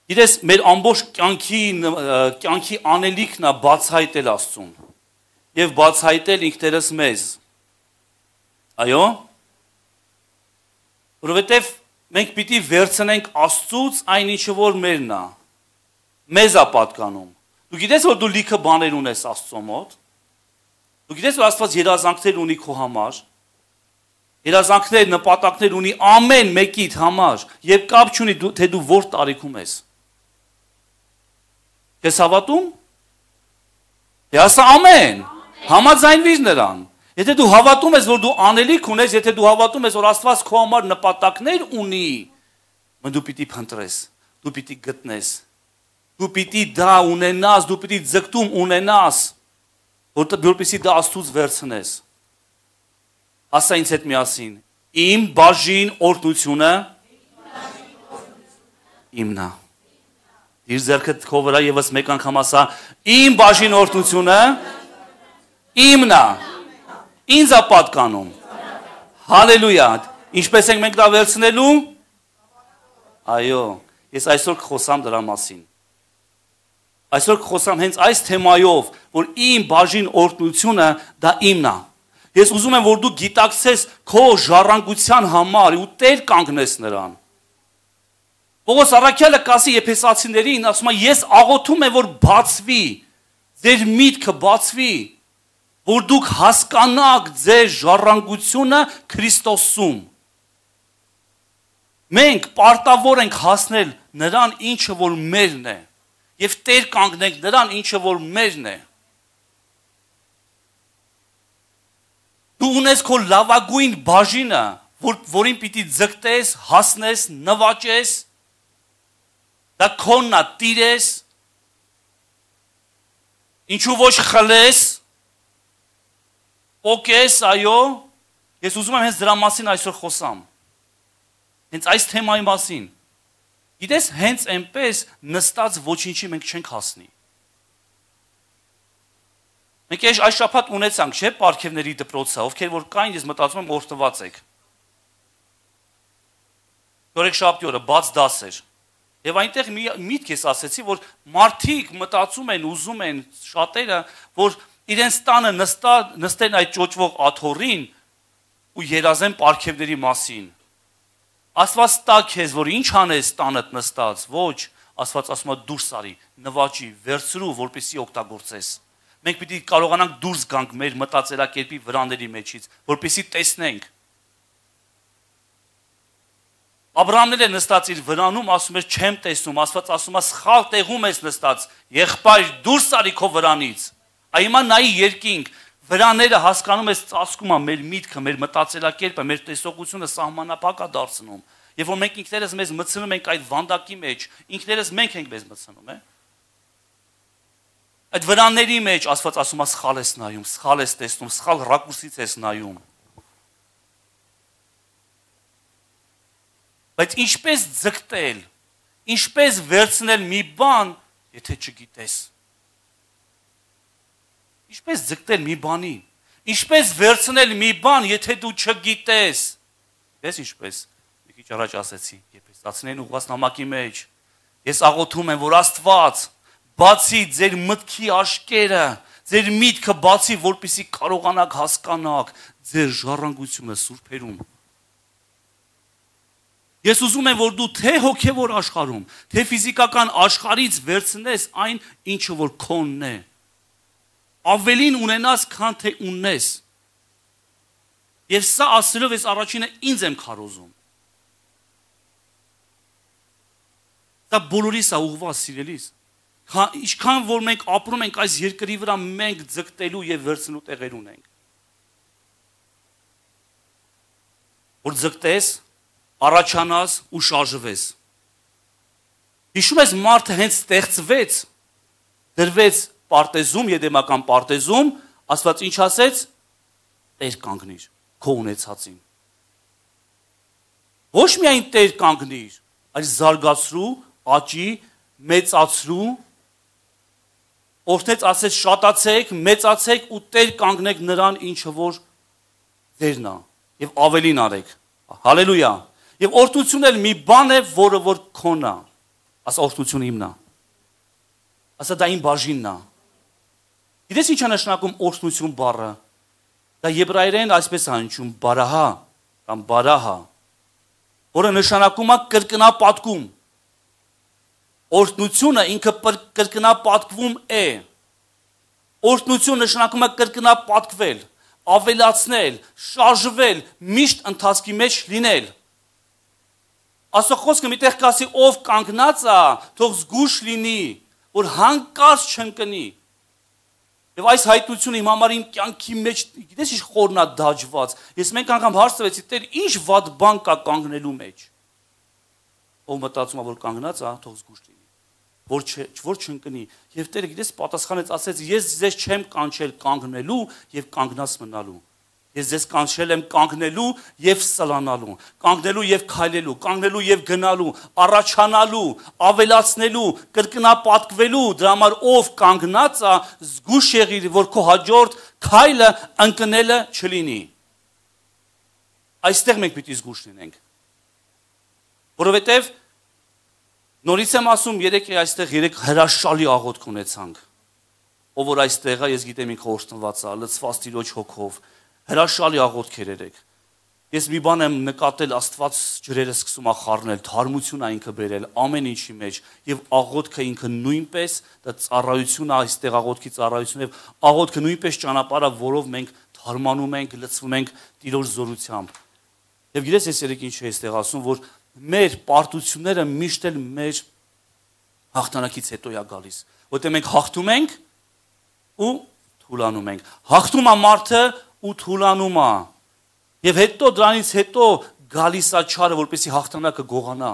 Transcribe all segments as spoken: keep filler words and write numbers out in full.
Գիտես, մեր ամբողջ կյանքի կյանքի անելիքն է բացահայտել Աստծուն եւ բացահայտել ինքներս մեզ։ Այո։ Որովհետեւ մենք պիտի վերցնենք Աստծուց այն ինչը որ մերն է։ Մեզ է պատկանում։ Դու գիտես որ դու լիքը բաներ ունես Աստծո մոտ։ Դու գիտես որ Աստված երազանքներ ունի քո համար։ Երազանքներ, նպատակներ ունի ամեն մեկիդ համար եւ կապ չունի թե դու որ տարիքում ես։ Ես հավատում։ Ես ամեն։ Համաձայնվիր նրան։ Եթե դու հավատում ես որ դու անելիք ունես, եթե դու հավատում ես որ Աստված քո համար նպատակներ ունի, մեն դու պիտի փնտրես, դու պիտի գտնես։ Դու պիտի դա ունենաս, դու պիտի ձգտում ունենաս, որպեսզի դա Աստծուց վերցնես։ Ասա ինձ հետ միասին, իմ բաժին օրհնությունը իմն է։ Իր ձեռքդ քո վրա եւս մեկ անգամ ասա, իմ բաժին օրհնությունը իմն է։ Ինձ է պատկանում։ Հալելույա։ Ինչպես ենք մենք դա վերցնելու։ Այո, ես այսօր կխոսամ դրա մասին։ Այսօր կխոսամ հենց այս թեմայով, որ իմ բաժին օրհնությունը դա իմն է։ Ես ուզում եմ որ դու գիտակցես քո ժառանգության համար ու տեր կանգնես նրան։ Պողոս առաքյալը կասի Եփեսացիներին, ասում է ես աղոթում եմ որ բացվի, ձեր միտքը բացվի, որ դուք հասկանաք ձեր ժառանգությունը Քրիստոսում։ Մենք պարտավոր ենք հասնել նրան ինչը որ մերն է։ Եվ տեր կանգնենք նրան ինչը որ մերն է։ Դու ունես քո լավագույն բաժինը, որ, որին պիտի ձգտես, հասնես, նվաճես, դա քոնն է, տիրես, ինչու ոչ խլես, պոկես, այո, ես ուզում եմ հենց դրա մասին այսօր խոսամ, հենց այս թեմայի մասին, գիտես հենց այնպես նստած ոչինչի մենք չենք հասնի։ Մենք այս շաբաթ ունեցանք, չէ՞, պարգևների դպրոցը, ովքեր որ կային, ես մտածում եմ օրհնված եք։ Երեքշաբթի օրը բաց դաս էր։ Եվ այնտեղ մի միտք ես ասեցի, որ մարդիկ մտածում են, ուզում են շատերը, որ իրենց տանը նստա, նստեն այդ ճոճվող աթոռին ու երազեն պարգևների մասին։ Աստված տա քեզ, որ ինչ անես տանդ նստած, ոչ, Աստված ասում է դուրս արի, նվաճի, վերցրու, որպեսզի օգտագործես։ Մենք պիտի կարողանանք դուրս գանք մեր մտածելակերպի վրաների մեջից, որպեսզի տեսնենք։ Աբրահամն էլ նստած իր վրանում ասում էր չեմ տեսնում, Աստված ասում է սխալ տեղում ես նստած, եղբայր դուրս արի քո վրանից։ Այ հիմա նայի երկինք, վրաները հասկանում ես ծածկում է մեր միտքը, մեր մտածելակերպը, մեր տեսողությունը սահմանափակ է դարձնում։ Եվ որ մենք ինքներս մեզ մտցնում ենք այդ վանդակի մեջ, ինքներս մենք ենք մեզ մտցնում, է։ Այդ վրանների մեջ Աստված ասում է սխալ ես նայում, սխալ ես տեսնում, սխալ ռակուրսից ես նայում։ Բայց ինչպես ձգտել, ինչպես վերցնել մի բան, եթե չգիտես։ Ինչպես ձգտել մի բանի, ինչպես վերցնել մի բան, եթե դու չգիտես։ Ես ինչպես, մի քիչ առաջ ասեցի, Եփեսացիներին ուղղված նամակի մեջ, ես աղոթում եմ, որ Աստված բացի ձեր մտքի աշկերը, ձեր միտքը բացի, որպեսզի կարողանաք հասկանաք ձեր ժառանգությունը սուրբերում։ Ես ուզում եմ, որ դու թե հոգևոր աշխարհում, թե ֆիզիկական աշխարհից վերցնես այն, ինչը որ քոնն է։ Ավելին ունենաս, քան թե ունես։ Եվ սա ասելով ես առաջինը ինձ եմ քարոզում։ Դա բոլորիս է ուղղված սիրելիս։ Ինչքան որ մենք ապրում ենք այս երկրի վրա, մենք ձգտելու եւ վերցնելու տեղեր ունենք։ Որ ձգտես, առաջանաս ու շարժվես։ Հիշում ես մարդը հենց ստեղծվեց, դրվեց պարտեզում, եդեմական պարտեզում, Աստված ինչ ասեց, տեր կանգնիր, քո ունեցածին։ Ոչ միայն տեր կանգնիր, այլ զարգացրու, աճի, մեծացրու, օրհնեց ասեց շատացեք, մեծացեք ու տեր կանգնեք նրան, ինչը որ ձերն է, եւ ավելին արեք։ Հալելույա։ Եվ օրհնությունն էլ մի բան է, որը որ քոնն է։ Ասա օրհնությունը իմն է։ Ասա դա իմ բաժինն է։ Գիտես ինչ է նշանակում օրհնություն բառը։ Դա եբրայերեն այսպես է հնչում բարահա կամ բարահա, որը նշանակում է կրկնապատկում։ Օրհնությունը ինքը կրկնապատկվում է։ Օրհնություն նշանակում է կրկնապատկվել, ավելացնել, շարժվել, միշտ ընթացքի մեջ լինել։ Աստծո խոսքը միտեղ կասի ով կանգնած է, թող զգուշ լինի, որ հանկարծ չընկնի։ Եվ այս հայտնությունը իմ համար իմ կյանքի մեջ, գիտես ինչ խորն է դաջված։ Ես մեկ անգամ հարցրեցի, Տեր, ինչ վատ բան կա կանգնելու մեջ։ Ով մտածում է, որ կանգնած է, թող զգուշ լինի, որ չէ, որ չընկնի։ Եվ Տերը գիտես պատասխանեց, ասեց, ես ձեզ չեմ կանչել կանգնելու եւ կանգնած մնալու։ Ես ձեզ կանչել եմ կանգնելու եւ սլանալու, կանգնելու եւ քայլելու, կանգնելու եւ գնալու, առաջանալու, ավելացնելու, կրկնապատկվելու, դրա համար ով կանգնած է, զգուշ եղիր, որ քո հաջորդ քայլը ընկնելը չլինի։ Այստեղ մենք պիտի զգուշ լինենք։ Որովհետեւ նորից եմ ասում, երեք այստեղ երեք հրաշալի աղոթք ունեցանք։ Ով որ այստեղ է, ես գիտեմ ինքը օրհնված է, լցված Տիրոջ հոգով։ Հրաշալի աղոթքեր երեք։ Ես մի բան եմ նկատել, Աստված ջրերը սկսում է խառնել, թարմություն է ինքը բերել ամեն ինչի մեջ եւ աղոթքը ինքը նույնպես դա ծառայություն է, այստեղ աղոթքի ծառայություն եւ աղոթքը նույնպես ճանապարհը, որով մենք թարմանում ենք, լցվում ենք Տիրոջ զորությամբ։ Եվ գիտես ես երեք ինչ է այստեղ ասում, որ մեր պարտությունները միշտ էլ մեր հաղթանակից հետո է գալիս, որտեղ մենք հաղթում ենք ու թուլանում ենք։ Հաղթում է մարդը ու թուլանում է։ Եվ հետո դրանից հետո գալիս է չարը, որպեսզի հաղթանակը գողանա։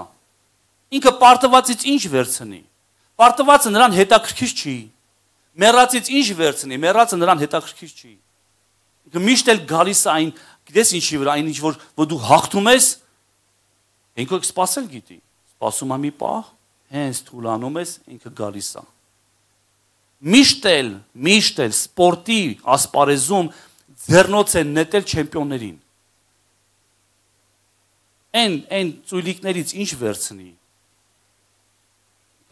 Ինքը պարտվածից ինչ վերցնի։ Պարտվածը նրան հետաքրքիր չի։ Մեռածից ինչ վերցնի, մեռածը նրան հետաքրքիր չի։ Ինքը միշտ էլ գալիս է այն, գիտես ինչի վրա, այն ինչ որ որ դու հաղթում ես, ինքը սпасել գիտի։ Սпасում է մի պահ, հենց թուլանում ես, ինքը գալիս է։ Միշտ էլ, միշտ էլ սպորտի ասպարեզում ձեռնոց են նետել չեմպիոններին։ Այն այն ծույլիկներից ինչ վերցնի։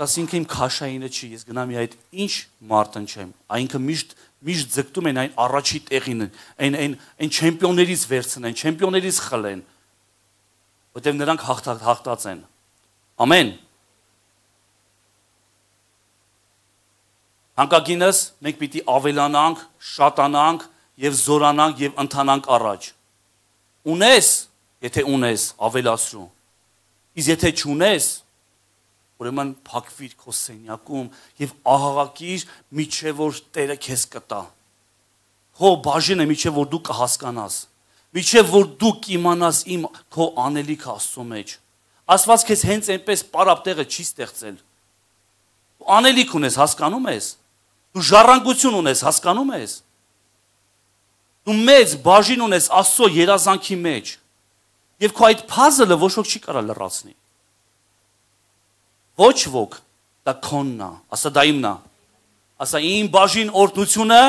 Ասինքն իմ քաշայինը չի, ես գնամ այդ ինչ մարդն չեմ։ Այնքը միշտ միշտ ձգտում են այն առաջի տեղին, այն այն այն չեմպիոններից վերցնեն, չեմպիոններից խլեն։ Որտեղ նրանք հաղթած են։ Ամեն։ Հանկագինս մենք պիտի ավելանանք, շատանանք եւ զորանանք եւ ընթանանք առաջ։ Ունես, եթե ունես, ավելացրու։ Իսկ եթե չունես, ուրեմն փակվիր քո սենյակում եւ ահաղակիր միջև որ Տերը քեզ կտա։ Քո բաժինը միջև որ դու կհասկանաս, միջև որ դու կիմանաս իմ քո անելիքը Աստծո մեջ։ Աստված քեզ հենց այնպես պարապ տեղը չի ստեղծել։ Դու անելիք ունես, հասկանում ես։ Դու ժառանգություն ունես, հասկանում ես։ Դու մեծ բաժին ունես Աստծո երազանքի մեջ։ Եվ քո այդ puzzle-ը ոչ ոք չի կարող լրացնի։ Ոչ ոք, դա քոնն է, ասա դա իմն է։ Ասա իմ բաժին օրհնությունը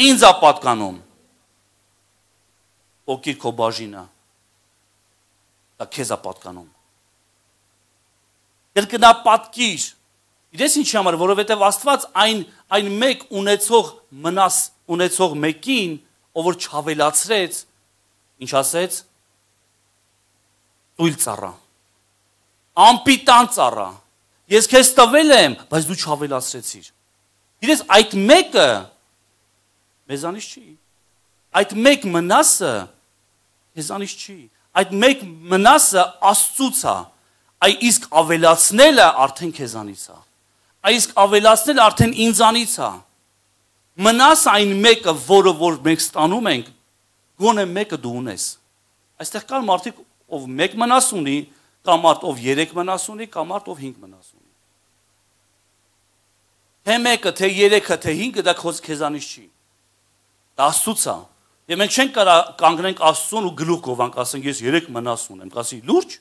ինձ է պատկանում։ Օգիր քո բաժինը։ Դա քեզ է պատկանում։ Կրկնապատկիր։ Գիտես ինչի համար, որովհետև Աստված այն այն մեկ ունեցող մնաս ունեցող մեկին, ով որ չավելացրեց, ինչ ասեց, ծույլ ծառա, ամպիտան ծառա, ես քեզ տվել եմ, բայց դու չավելացրեցիր։ Գիտես այդ մեկը մեզանից չի, այդ մեկ մնասը մեզանից չի, այդ մեկ մնասը Աստծուց է, այ իսկ ավելացնելը արդեն քեզանից է, այ իսկ ավելացնելը արդեն ինձանից է։ Մնաս այն մեկը, որը որ մենք ստանում ենք, գոնե մեկը դու ունես։ Այստեղ կան մարդիկ, ով մեկ մնաս ունի, կամ մարդ ով երեք մնաս ունի, կամ մարդ ով հինգ մնաս ունի։ Թե մեկը, թե երեքը, թե հինգը դա քեզանից չի։ Դա Աստծուց է։ Եվ մենք չենք կարող կանգնենք Աստծուն ու գլուխ գովանք, ասենք ես երեք մնաս ունեմ, ասի լուրջ։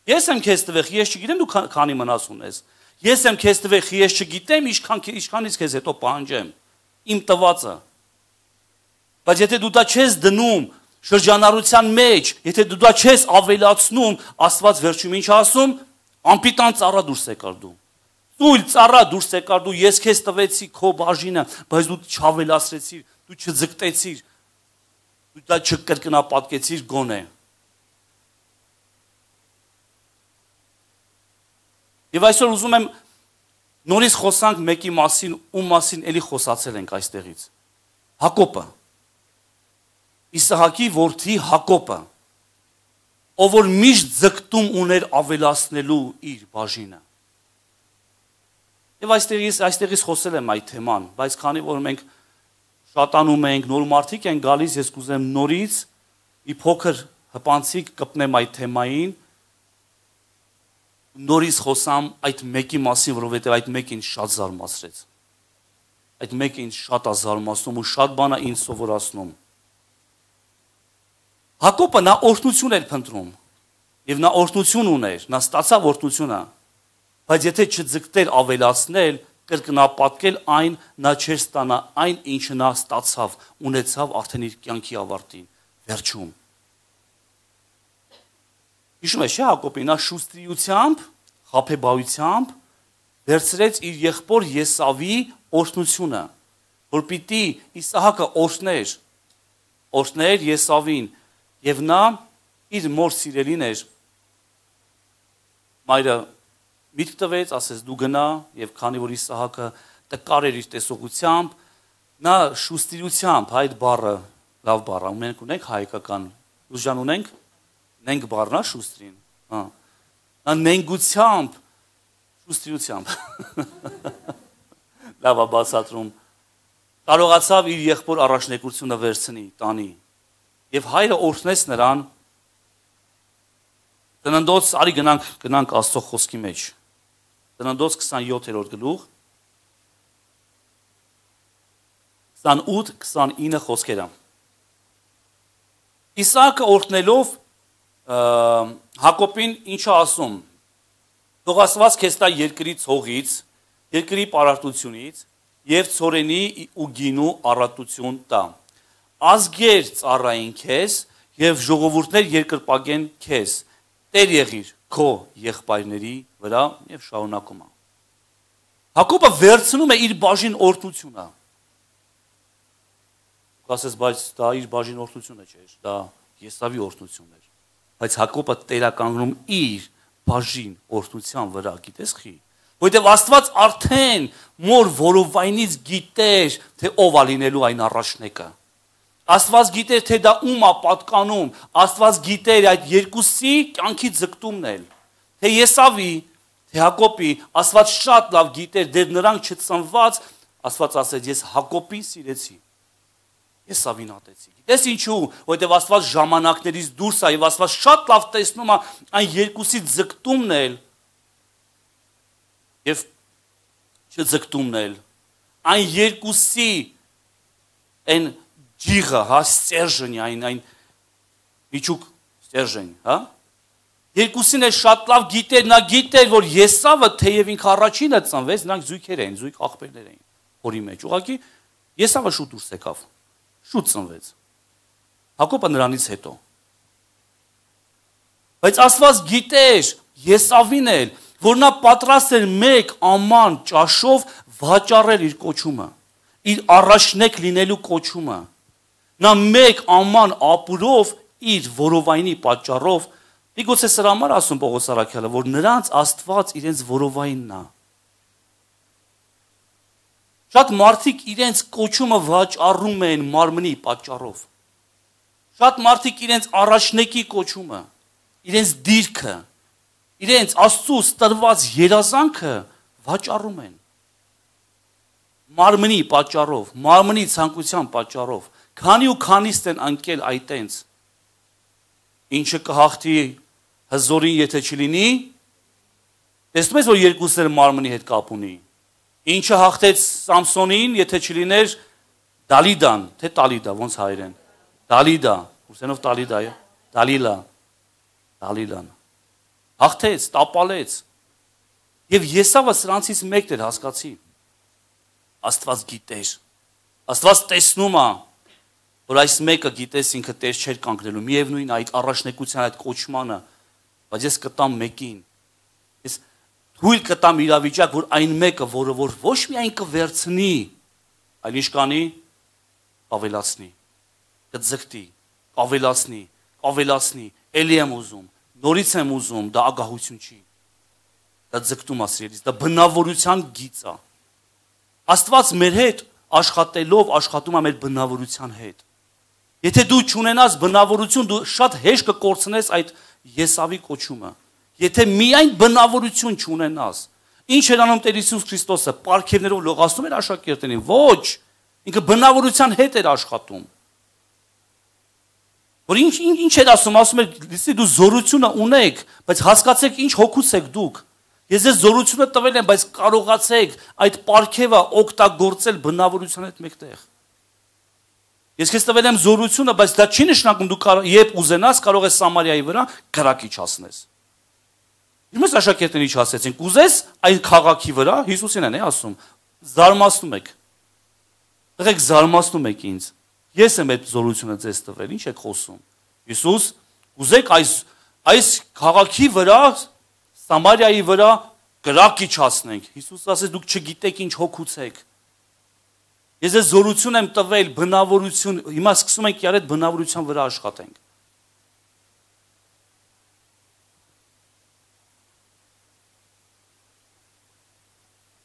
Ես եմ քեզ տվել, ես չգիտեմ դու քանի մնաս ունես։ Ես եմ քեզ տվել, ես չգիտեմ ինչքան ինչքանից քեզ հետո պահանջեմ։ Իմ տվածը։ Բայց եթե դու դա չես դնում շրջանառության մեջ, եթե դու դա չես ավելացնում, Աստված վերջում ինչ ասում, Անպիտան ծառա դուրս եկար դու։ Ծույլ ծառա դուրս եկար դու, ես քեզ տվեցի քո բաժինը, բայց դու չավելացրեցիր, դու չձգտեցիր, դու դա չկրկնապատկեցիր գոնե։ Եվ այսօր ուզում եմ նորից խոսանք մեկի մասին, ում մասին էլի խոսացել ենք այստեղից։ Հակոբը։ Իսահակի որդի Հակոբը, ով որ միշտ ձգտում ուներ ավելացնելու իր բաժինը։ Եվ այստեղից այստեղից խոսել եմ այդ թեման, բայց քանի որ մենք շատանում ենք, նոր մարդիկ են գալիս, ես կուզեմ նորից մի փոքր հպանցիկ կպնեմ այդ թեմային, նորից խոսամ այդ մեկի մասին, որովհետև այդ մեկը ինձ շատ զարմացրեց։ Այդ մեկը ինձ շատ է զարմացնում ու շատ բան է ինձ սովորացնում։ Հակոբը նա օրհնություն էր փնտրում, եւ նա օրհնություն ուներ, նա ստացավ օրհնությունը, բայց եթե չձգտեր ավելացնել, կրկնապատկել այն, նա չէր ստանա այն, ինչը նա ստացավ, ունեցավ արդեն իր կյանքի ավարտին, վերջում։ Հիշում եք, չէ՞, Հակոբին նա շուստրիությամբ, խաբեբայությամբ վերցրեց իր եղբոր Եսավի օրհնությունը, որ պիտի Իսահակը օրհներ, օրհներ Եսավին, եւ նա իր մոր սիրելին էր, մայրը միտք տվեց, ասեց դու գնա, եւ քանի որ Իսահակը տկար էր իր տեսողությամբ, նա շուստիրությամբ, այդ բառը լավ բառ է, մենք ունենք հայկական, ուժան ունենք, նենք բառն է շուստրին, հա։ Նա նենգությամբ, շուստիրությամբ, լավ է բացատրում, կարողացավ իր եղբոր առաջնեկությունը վերցնի, տանի, եւ հայրը օրհնեց նրան, Ծննդոց, արի գնանք, գնանք Աստծո խոսքի մեջ, Ծննդոց քսանյոթերորդ գլուխ, քսանութ քսանինը խոսքերը։ Իսահակը օրհնելով Հակոբին ինչը ասում, թող Աստված քեզ տա երկրի ցողից, երկրի պարարտությունից եւ ցորենի ու գինու առատություն տա։ Ազգեր ծառային քեզ եւ ժողովուրդներ երկրպագեն քեզ։ Տեր եղիր քո եղբայրների վրա եւ շարունակում է։ Հակոբը վերցնում է իր բաժին օրհնությունը։ Ասես, բայց դա իր բաժին օրհնությունը չէր, դա Եսավի օրհնությունն էր։ Բայց Հակոբը տերականգնում իր բաժին օրհնության վրա, գիտես խի։ Որտեւ Աստված արդեն մոր որովայնից գիտեր, թե ով է լինելու այն առաջնեկը։ Աստված գիտեր, թե դա ում է պատկանում, Աստված գիտեր այդ երկուսի կյանքի ձգտումն էլ, թե Եսավի, թե Հակոբի, Աստված շատ լավ գիտեր, դեռ նրանք չծնված, Աստված ասեց, ես Հակոբին սիրեցի, Եսավին ատեցի։ Գիտես ինչու, որովհետև Աստված ժամանակներից դուրս է եւ Աստված շատ լավ տեսնում է այն երկուսի ձգտումն էլ եւ չձգտումն էլ, այն երկուսի այն ջիղը, հա, ստержень, այն այն միջուկ ստержень, հա։ Երկուսին է շատ լավ գիտեր, նա գիտեր, որ Եսավը թեև ինքը առաջինը ծնվեց, նրանք զույգեր էին, զույգ աղբերներ էին հորի մեջ։ Ուղղակի Եսավը շուտ դուրս եկավ, շուտ ծնվեց։ Հակոբը նրանից հետո։ Բայց Աստված գիտեր Եսավին էլ, որ նա պատրաստ էր մեկ աման ճաշով վաճառել իր կոչումը, իր առաջնեկ լինելու կոչումը։ Նա մեկ աման ապուրով իր որովայնի պատճառով, միգուցե սրա համար ասում Պողոս առաքյալը, որ նրանց Աստված իրենց որովայնն է։ Շատ մարդիկ իրենց կոչումը վաճառում են մարմնի պատճառով։ Շատ մարդիկ իրենց առաջնեկի կոչումը, իրենց դիրքը, իրենց Աստծուց տրված երազանքը վաճառում են։ Մարմնի պատճառով, մարմնի ցանկության պատճառով, քանի ու քանիստ են անկել այտենց, ինչը կհաղթի հզորին, եթե չլինի, տեսնում ես, որ երկուսները մարմնի հետ կապ ունի, ինչը հաղթեց Սամսոնին, եթե չլիներ Դալիդան, թե Տալիդա, ոնց հայերեն, Դալիդա, ուսենով Տալիդա է, Դալիլա, Դալիլան, հաղթեց, տապալեց, եւ Եսավը սրանցից մեկն էր, հասկացի, Աստված գիտեր, Աստված տեսնում է, որ այս մեկը գիտես ինքը տեր չէր կանգնելու, միևնույն այդ առաջնեկության այդ կոչմանը, բայց ես կտամ մեկին, ես թույլ կտամ իրավիճակ, որ այն մեկը, որը որ ոչ միայն կվերցնի, այլ ինչ կանի, ավելացնի, կձգտի, ավելացնի, ավելացնի, էլի եմ ուզում, նորից եմ ուզում, դա ագահություն չի, դա ձգտում է սիրելիս, դա բնավորության գիծ է։ Աստված մեր հետ աշխատելով աշխատում է մեր բնավորության հետ։ Եթե դու չունենաս բնավորություն, դու շատ հեշտ կկորցնես այդ Եսավի կոչումը։ Եթե միայն բնավորություն չունենաս, ինչ էր անում Տեր Հիսուս Քրիստոսը, պարգևներով լողացնում էր աշակերտներին, ոչ, ինքը բնավորության հետ էր աշխատում։ Որ ինչ ինչ էր ասում, ասում էր, լսի դու զորությունը ունեք, բայց հասկացեք ինչ հոգուց եք դուք։ Ես ձեզ զորությունը տվել եմ, բայց կարողացեք այդ պարգևը օգտագործել բնավորության հետ մեկտեղ։ Ես քեզ տվել եմ զորությունը, բայց դա չի նշանակում դու երբ ուզենաս կարող ես Սամարիայի վրա կրակի չասնես։ Իմս աշակերտների չասեցին, կուզես այն քաղաքի վրա, Հիսուսին են է ասում, զարմացնում եք։ Եղեք զարմացնում եք ինձ։ Ես եմ այդ զորությունը ձեզ տվել, ինչ եք խոսում։ Հիսուս, կուզեք այս այս քաղաքի վրա, Սամարիայի վրա կրակի չասնենք։ Հիսուս ասեց դուք չգիտեք ինչ հոգուց եք։ Ես ձեզ զորություն եմ տվել, բնավորություն, հիմա սկսում ենք իրար այդ բնավորության վրա աշխատենք։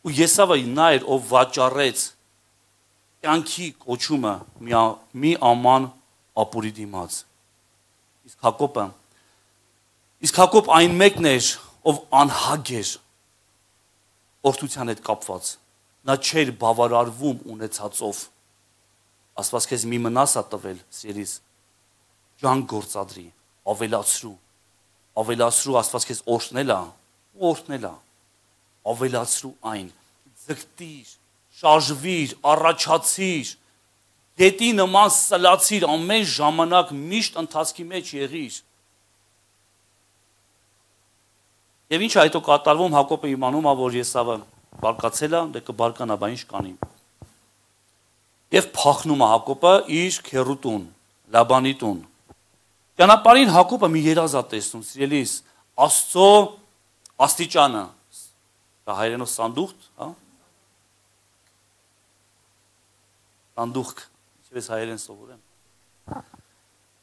Ու Եսավը նա էր, ով վաճառեց կյանքի կոչումը մի աման ապուրի դիմաց։ Իսկ Հակոբը, իսկ Հակոբ այն մեկն էր, ով անհագ էր օրհնության հետ կապված։ Նա չէր բավարարվում ունեցածով։ Աստված քեզ մի մնաս է տվել, սիրելիս, ջանք գործադրի, ավելացրու, ավելացրու Աստված քեզ օրհնել է, օրհնել է, ավելացրու այն, ձգտիր, շարժվիր, առաջացիր, գետի նման սլացիր, ամեն ժամանակ միշտ ընթացքի մեջ եղիր։ Եվ ինչ այդո կատարվում, Հակոբը իմանում է, որ Եսավը բարկացել է, դե կբարկանա, բա ինչ կանի։ Եվ փախնում է Հակոբը իր քեռուտուն, Լաբանի տուն։ Ճանապարհին Հակոբը մի երազ է տեսնում, սիրելիս, Աստծո աստիճանը, դա հայերենով սանդուղք, հա։ Սանդուղք, ինչպես հայերեն սովորեմ։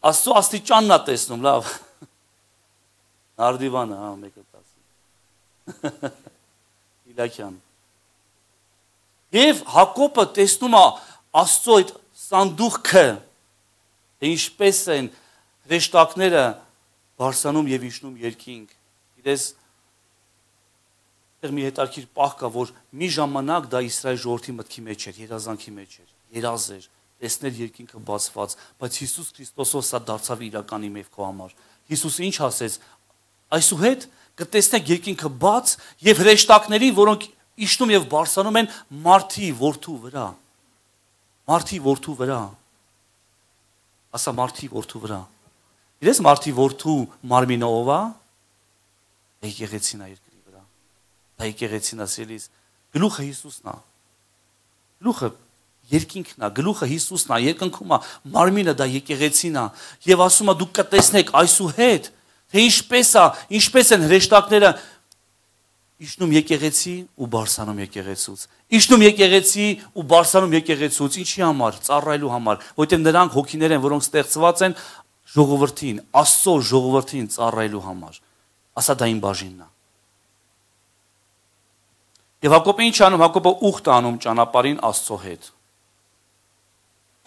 Աստծո աստիճանն է տեսնում, լավ։ Նարդիվանը, հա, մեկը տասի։ Իլաքյան։ Եվ Հակոբը տեսնում է Աստծո այդ սանդուղքը, թե ինչպես են հրեշտակները բարձրանում եւ իջնում երկինք։ Գիտես, այդտեղ մի հետաքրքիր պահ կա, որ մի ժամանակ դա Իսրայել ժողովրդի մտքի մեջ էր, երազանքի մեջ էր, երազ էր, տեսնել երկինքը բացված, բայց Հիսուս Քրիստոսով սա դարձավ իրականի մեր քո համար։ Հիսուսը ինչ ասեց, այսուհետ կտեսնեք երկինքը բաց եւ հրեշտակներին, որոնք իջնում եւ բարձրանում են մարդի որդու վրա։ Մարդի որդու վրա։ Ասա մարդի որդու վրա։ Իրես մարդի որդու մարմինը ով է։ Եկեղեցին է երկրի վրա։ Դա եկեղեցին է սիրելիս։ Գլուխը Հիսուսն է։ Գլուխը երկինքն է, գլուխը Հիսուսն է, երկնքում է, մարմինը դա եկեղեցին է։ Եվ ասում է դուք կտեսնեք այսուհետ, թե ինչպես է, ինչպես են հրեշտակները իջնում եկեղեցի ու բարձրանում եկեղեցուց։ Իջնում եկեղեցի ու բարձրանում եկեղեցուց, ինչի համար, ծառայելու համար, որտեղ նրանք հոգիներ են, որոնք ստեղծված են ժողովրդին, Աստծո ժողովրդին ծառայելու համար։ Ասա դա իմ բաժինն է։ Եվ Հակոբը ինչ անում, Հակոբը ուխտ անում ճանապարհին Աստծո հետ։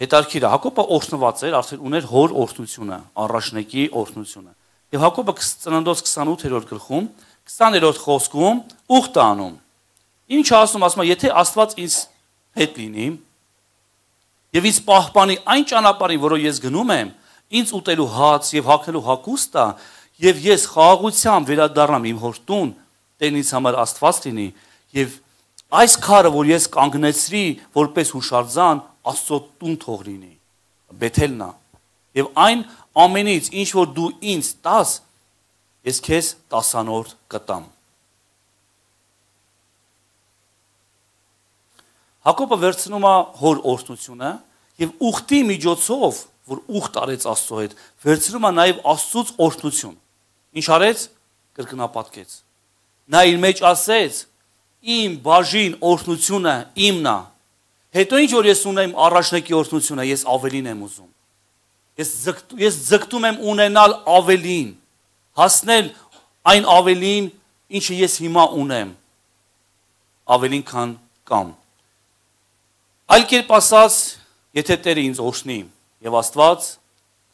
Հետարքիր է, Հակոբը օրհնված էր, արդեն ուներ հոր օրհնությունը, առաջնեկի օրհնությունը։ Եվ Հակոբը ծննդոց քսանութերորդ գլխում, քսաներորդ խոսքում ուխտ անում։ Ինչ ասում, ասում է, եթե Աստված ինձ հետ լինի եւ ինձ պահպանի այն ճանապարհին, որով ես գնում եմ, ինձ ուտելու հաց եւ հագնելու հագուստ տա, եւ ես խաղաղությամբ վերադառնամ իմ հոր տուն, Տերն ինձ համար Աստված լինի, եւ այս քարը, որ ես կանգնեցրի որպես հուշարձան, Աստծո տուն թող լինի, Բեթելն է։ Եվ այն ամենից, ինչ որ դու ինձ տաս, ես քեզ տասանորդ կտամ։ Հակոբը վերցնում է հոր օրհնությունը եւ ուխտի միջոցով, որ ուխտ արեց Աստծո հետ, վերցնում է նաեւ Աստծուց օրհնություն։ Ինչ արեց? Կրկնապատկեց։ Նա իր մեջ ասեց. իմ բաժին օրհնությունը իմն է։ Հետո ինչ որ ես ունեմ առաջնակի օրհնությունը, ես ավելին եմ ուզում։ Ես ձգտ, ես ձգտում եմ ունենալ ավելին, հասնել այն ավելին, ինչը ես հիմա ունեմ, ավելին քան կամ։ Այլ կերպ ասած, եթե Տերը ինձ օրհնի, եւ Աստված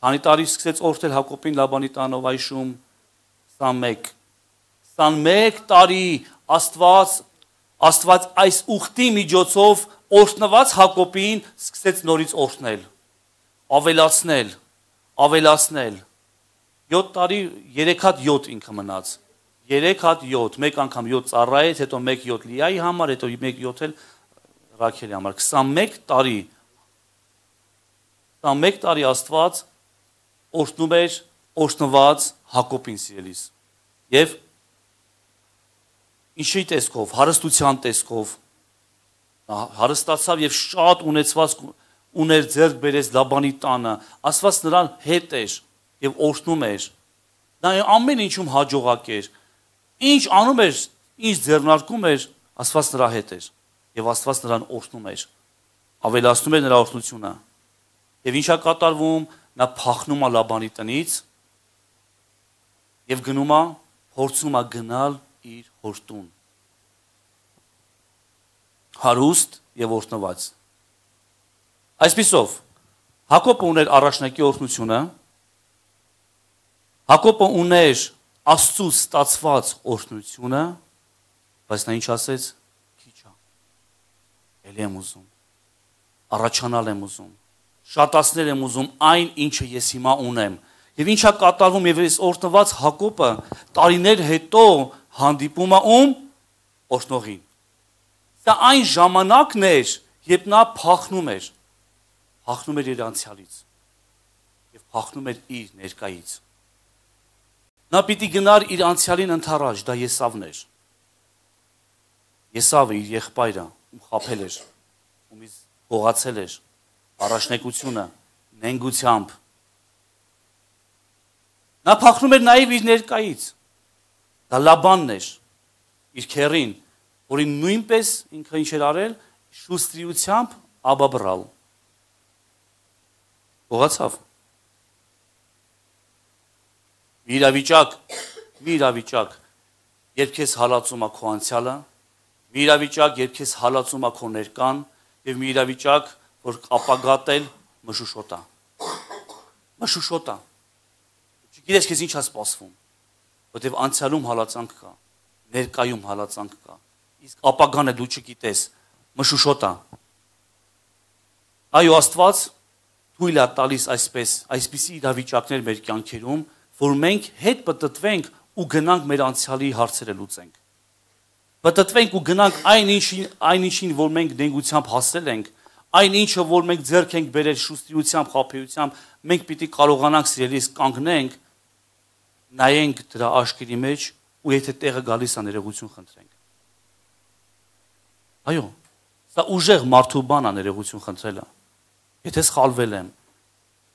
քանի տարի սկսեց օրհնել Հակոբին Լաբանի տանով այշում քսանմեկ քսանմեկ տարի Աստված Աստված այս ուխտի միջոցով օրհնված Հակոբին սկսեց նորից օրհնել, ավելացնել, ավելացնել։ յոթ տարի երեք հատ յոթ ինքը մնաց։ երեք հատ յոթ, մեկ անգամ յոթ ծառայեց, հետո մեկ յոթ Լիայի համար, հետո մեկ յոթ էլ Ռաքելի համար։ քսանմեկ տարի քսանմեկ տարի Աստված օրհնում էր օրհնված Հակոբին սիրելիս։ Եվ ինչի տեսքով, հարստության տեսքով հարստացավ եւ շատ ունեցված ուներ ձեռք բերեց Լաբանի տանը, Աստված նրան հետ էր եւ օրհնում էր։ Նա ամեն ինչում հաջողակ էր։ Ինչ անում էր, ինչ ձեռնարկում էր, Աստված նրա հետ էր եւ Աստված նրան օրհնում էր, ավելացնում էր նրա օրհնությունը։ Եվ ինչա կատարվում, նա փախնում է Լաբանի տնից եւ գնում է, փորձում է գնալ իր հոր տուն։ Հարուստ եւ օրհնված։ Այսպիսով Հակոբը ուներ առաջնակի օրհնությունը, Հակոբը ուներ Աստծուց ստացված օրհնությունը, բայց նա ինչ ասեց, քիչ է։ Էլի եմ ուզում, առաջանալ եմ ուզում, շատացնել եմ ուզում այն, ինչը ես հիմա ունեմ։ Եվ ինչա կատարվում, եւ այս օրհնված Հակոբը տարիներ հետո հանդիպում է ում օրհնողին։ Դա այն ժամանակն էր, երբ նա փախնում էր, փախնում էր իր անցյալից եւ փախնում էր իր ներկայից։ Նա պիտի գնար իր անցյալին ընթառաջ, դա Եսավն էր։ Եսավը իր եղբայրը, ում խաբել էր, ումից գողացել էր, առաջնեկությունը, նենգությամբ։ Նա փախնում էր նաեւ իր ներկայից։ Դա Լաբանն էր, իր քեռին, որին նույնպես ինքը ինչ էր արել, շուստրիությամբ աբաբրալ։ Գողացավ։ Մի իրավիճակ, մի իրավիճակ, երբ քեզ հալածում է քո անցյալը, մի իրավիճակ, երբ քեզ հալածում է քո ներկան, եւ մի իրավիճակ, որ ապագատ էլ մշուշոտ է։ Մշուշոտ է։ Չգիտես քեզ ինչ է սպասվում, որտեվ անցյալում հալածանք կա, ներկայում հալածանք կա։ Իսկ ապագանը դու չգիտես, մշուշոտ է։ Այո, Աստված թույլ է տալիս այսպես, այսպիսի իրավիճակներ մեր կյանքերում, որ մենք հետ պտտվենք ու գնանք մեր անցյալի հարցերը լուծենք։ Պտտվենք ու գնանք այն ինչին, այն ինչին, որ մենք նենգությամբ հասել ենք, այն ինչը, որ մենք ձեռք ենք բերել շուստրիությամբ, խաբեությամբ, մենք պիտի կարողանանք սիրելիս կանգնենք, նայենք դրա աչքերի մեջ ու եթե տեղը գալիս է ներողություն խնդրենք։ Այո, սա ուժեղ մարդու բան է ներողություն խնդրելը։ Եթե սխալվել եմ,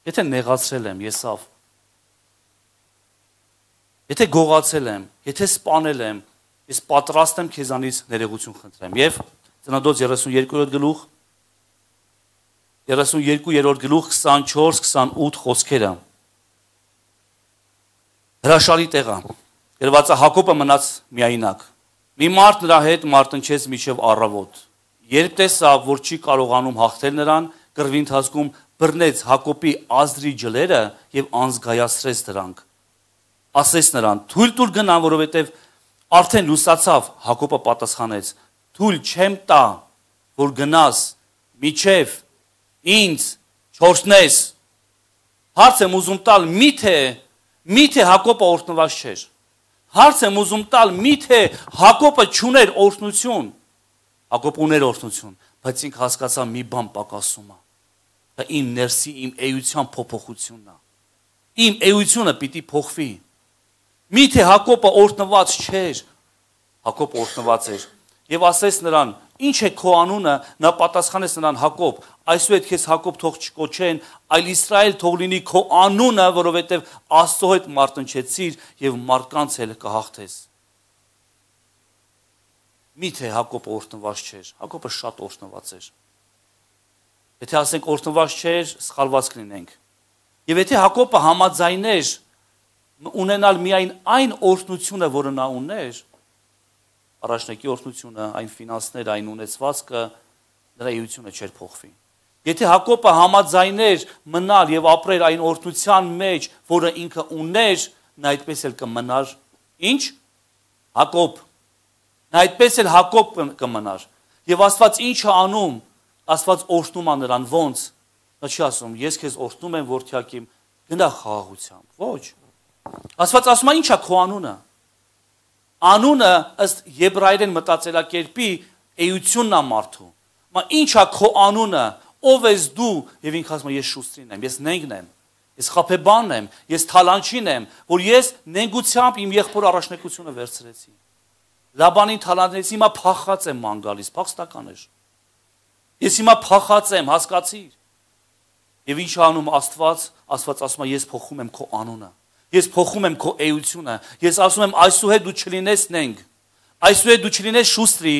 եթե նեղացրել եմ, եսավ, եթե գողացել եմ, եթե սպանել եմ, ես պատրաստ եմ քեզանից ներողություն խնդրեմ։ Եվ Ծննդոց երեսունյոթերորդ գլուխ, երեսունյոթերորդ գլուխ քսանչորս քսանութ խոսքերը։ Հրաշալի տեղ է։ Գրված է Հակոբը մնաց միայնակ։ Մի մարդ նրա հետ մարտնչեց մինչև առավոտ։ Երբ տեսավ, որ չի կարողանում հաղթել նրան, կռվի ընթացքում բռնեց Հակոբի ազդրի ջլերը եւ անզգայացրեց դրանք։ Ասեց նրան. «Թույլ տուր գնամ, որովհետեւ արդեն լուսացավ»։ Հակոբը պատասխանեց. «Թույլ չեմ տա, որ գնաս միջև ինձ չորհնես»։ Հարց եմ ուզում տալ, միթե միթե Հակոբը օրհնված չէր։ Հարց եմ ուզում տալ, միթե Հակոբը չուներ օրհնություն։ Հակոբը ուներ օրհնություն, բայց ինքը հասկացավ մի բան պակասում է։ Դա իմ ներսի, իմ էության փոփոխությունն է։ Իմ էությունը պիտի փոխվի։ Միթե Հակոբը օրհնված չէր։ Հակոբը օրհնված էր։ Եվ ասեց նրան. «Ինչ է քո անունը»։ Նա պատասխանեց նրան. «Հակոբ, այսուհետ քեզ Հակոբ թող չկոչեն, այլ Իսրայել թող լինի քո անունը, որովհետև Աստծո հետ մարտնչեցիր եւ մարդկանց էլ կհաղթես»։ Միթե Հակոբը օրհնված չէր, Հակոբը շատ օրհնված էր։ Եթե ասենք օրհնված չէր, սխալված կլինենք։ Եվ եթե Հակոբը համաձայներ ունենալ միայն այն օրհնությունը, որը նա ուներ, առաջնակի օրհնությունը, այն ֆինանսները, այն ունեցվածքը, նրա էությունը չէր փոխվի։ Եթե Հակոբը համաձայներ մնալ եւ ապրել այն օրհնության մեջ, որը ինքը ուներ, նա այդպես էլ կմնար, ինչ? Հակոբ։ Նա այդպես էլ Հակոբ կմնար։ Եվ Աստված ինչ է անում? Աստված օրհնում է նրան ոնց։ Նա չի ասում, ես քեզ օրհնում եմ որդյակիմ, գնա խաղաղությամբ։ Ոչ։ Աստված ասում է, ի՞նչ է քո անունը։ Անունը ըստ եբրայերեն մտածելակերպի էությունն է մարդու։ Մա ի՞նչ է քո անունը, ով ես դու, եւ ինքը ասում է, ես Շուստրին եմ, ես Նենգն եմ, ես Խափեբանն եմ, ես Թալանչին եմ, որ ես նենգությամբ իմ եղբոր առաջնեկությունը վերցրեցի։ Լաբանին թալանեցի, հիմա փախած եմ ման գալիս, փախստական էր։ Ես հիմա փախած եմ, հասկացիր։ Եվ ինչ անում Աստված, Աստված ասում է, ես փոխում եմ քո անունը։ Ես փոխում եմ քո էությունը։ Ես ասում եմ, այսուհետ դու չլինես Նենգ։ Այսուհետ դու չլինես Շուստրի,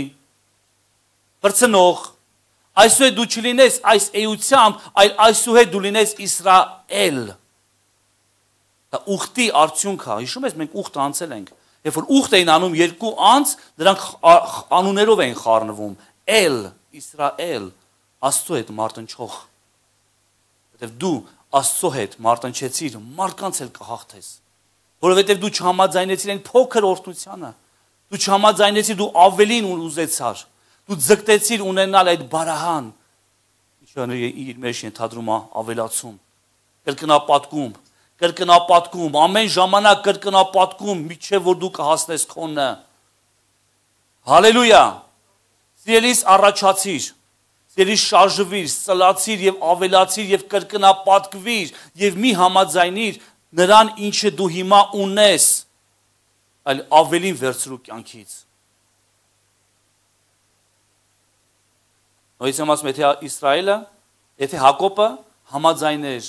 բրցնող։ Այսուհետ դու չլինես այս էությամբ, այլ այսուհետ դու լինես Իսրայել։ Դա ուխտի արդյունք է։ Հիշում ես, մենք ուխտ անցել ենք։ Երբ որ ուխտ էին անում երկու անձ, նրանք անուններով էին խառնվում։ Էլ, Իսրայել, Աստծո հետ մարտնչող։ Որովհետև դու Աստծո հետ մարտնչեցիր, մարդկանց էլ կհաղթես։ Որովհետև դու չհամաձայնեցիր այն փոքր օրհնությանը։ Դու չհամաձայնեցիր, դու ավելին ուզեցար։ Դու ձգտեցիր ունենալ այդ բարահան։ Ինչը իր մեջ ենթադրում է ավելացում, կրկնապատկում, կրկնապատկում, ամեն ժամանակ կրկնապատկում, միջև որ դու կհասնես քոնը։ Հալելույա։ Սիրելիս առաջացիր, սիրելիս շարժվիր, սլացիր եւ ավելացիր եւ կրկնապատկվիր եւ մի համաձայնիր նրան, ինչը դու հիմա ունես, այլ ավելին վերցրու կյանքից։ Նույնիսկ ասում եթե Իսրայելը, եթե Հակոբը համաձայներ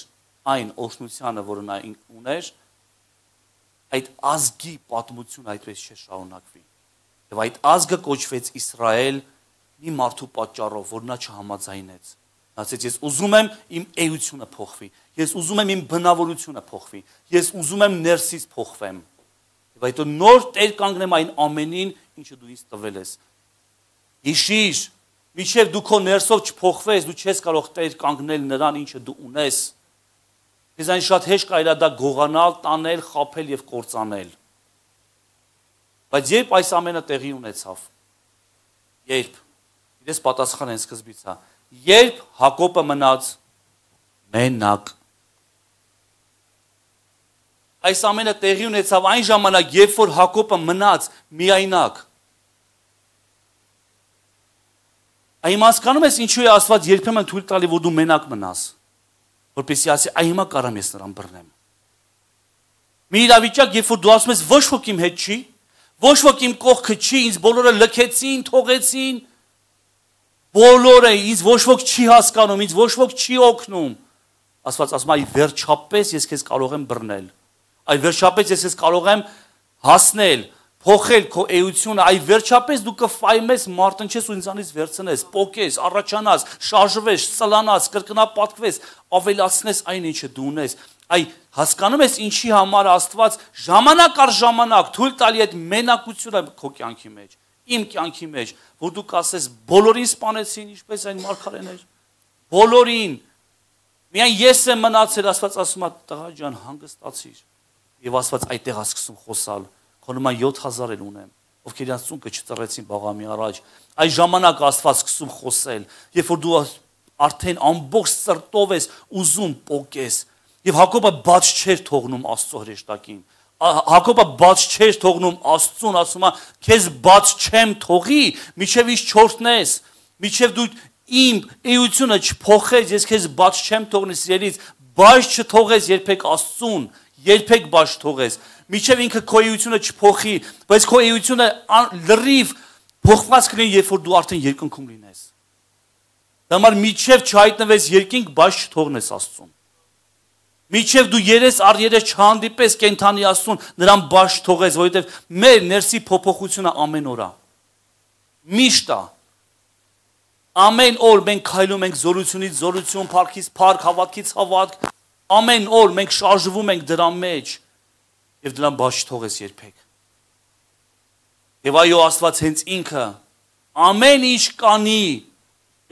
այն օրհնությանը, որը նա ուներ, այդ ազգի պատմությունը այդպես չէ շարունակվի։ Եվ այդ ազգը կոչվեց Իսրայել մի մարդու պատճառով, որ նա չհամաձայնեց։ Նա ասեց, ես ուզում եմ իմ էությունը փոխվի, ես ուզում եմ իմ բնավորությունը փոխվի, ես ուզում եմ ներսից փոխվեմ։ Եվ այդ նոր տեր կանգնեմ այն ամենին, ինչը դու ինձ տվել ես։ Հիշիր, մինչև դու քո ներսով չփոխվես, դու չես կարող տեր կանգնել նրան, ինչը դու ունես։ Ես այն շատ հեշտ կարելի է դա գողանալ, տանել, խաբել եւ կործանել։ Բայց երբ այս ամենը տեղի ունեցավ, երբ Իրես պատասխան են սկզբից հա, երբ Հակոբը մնաց մենակ։ Այս ամենը տեղի ունեցավ այն ժամանակ, երբ որ Հակոբը մնաց միայնակ։ Այն հասկանում ես ինչու է Աստված երբեմն թույլ տալի, որ դու մենակ մնաս, որպեսզի ասի, այ հիմա կարամ ես նրան բռնեմ։ Մի իրավիճակ, երբ որ դու ասում ես, ոչ ոք իմ հետ չի, ոչ ոք իմ կողքը չի, ինձ բոլորը լքեցին, թողեցին, բոլորը ինձ ոչ ոք չի հասկանում, ինձ ոչ ոք չի օգնում։ Աստված ասում է, այ վերջապես ես քեզ կարող եմ բռնել։ Այ վերջապես ես քեզ կարող եմ հասնել, փոխել քո էությունը, այ վերջապես դու կֆայմես, մարտնչես ու ինձանից վերցնես, պոկես, առաջանաս, շարժվես, սլանաս, կրկնապատկվես, ավելացնես այն ինչը դու ունես։ Այ հասկանում ես ինչի համար Աստված ժամանակ առ ժամանակ թույլ տալի այդ մենակությունը քո կյանքի մեջ, իմ կյանքի մեջ, որ դու կասես բոլորին սպանեցին, ինչպես այն մարգարեներ, բոլորին, միայն ես եմ մնացել, Աստված ասում է, տղա ջան, հանգստացիր, եւ Աստված այդտեղ է սկսում խոսալ, քո նման յոթ հազար էլ ունեմ, ովքեր իրանց ծունկը չծռեցին բաղամի առաջ, այդ ժամանակ Աստված սկսում խոսել, երբ որ դու արդեն ամբողջ սրտով ես ուզում պոկես, եւ Հակոբը բաց չէր թողնում Աստծո հրեշտակին, Հակոբը բաց չէր թողնում Աստծուն, ասում է, քեզ բաց չեմ թողի, միջև ինչ չորտնես, միջև դու իմ էությունը չփոխես, ես քեզ բաց չեմ թողնի սիրելիս, բաց չթողես երբեք Աստծուն, երբեք բաց թողես, միջև ինքը քո էությունը չփոխի, բայց քո էությունը լրիվ փոխված կլինի, երբ որ դու արդեն երկնքում լինես։ Դա համար միջև չհայտնվես երկինք, բաց չթողնես Աստծուն։ Միջև դու երես առ երես չհանդիպես կենթանի Աստծուն, նրան բաց թողես, որովհետև մեր ներսի փոփոխությունը ամեն օր է։ Միշտ է։ Ամեն օր մենք քայլում ենք զորությունից զորություն, փառքից փառք, հավատքից հավատք։ Ամեն օր մենք շարժվում ենք դրա մեջ եւ դրան բաց չթողես երբեք։ Եվ այո, Աստված հենց ինքը ամեն ինչ կանի,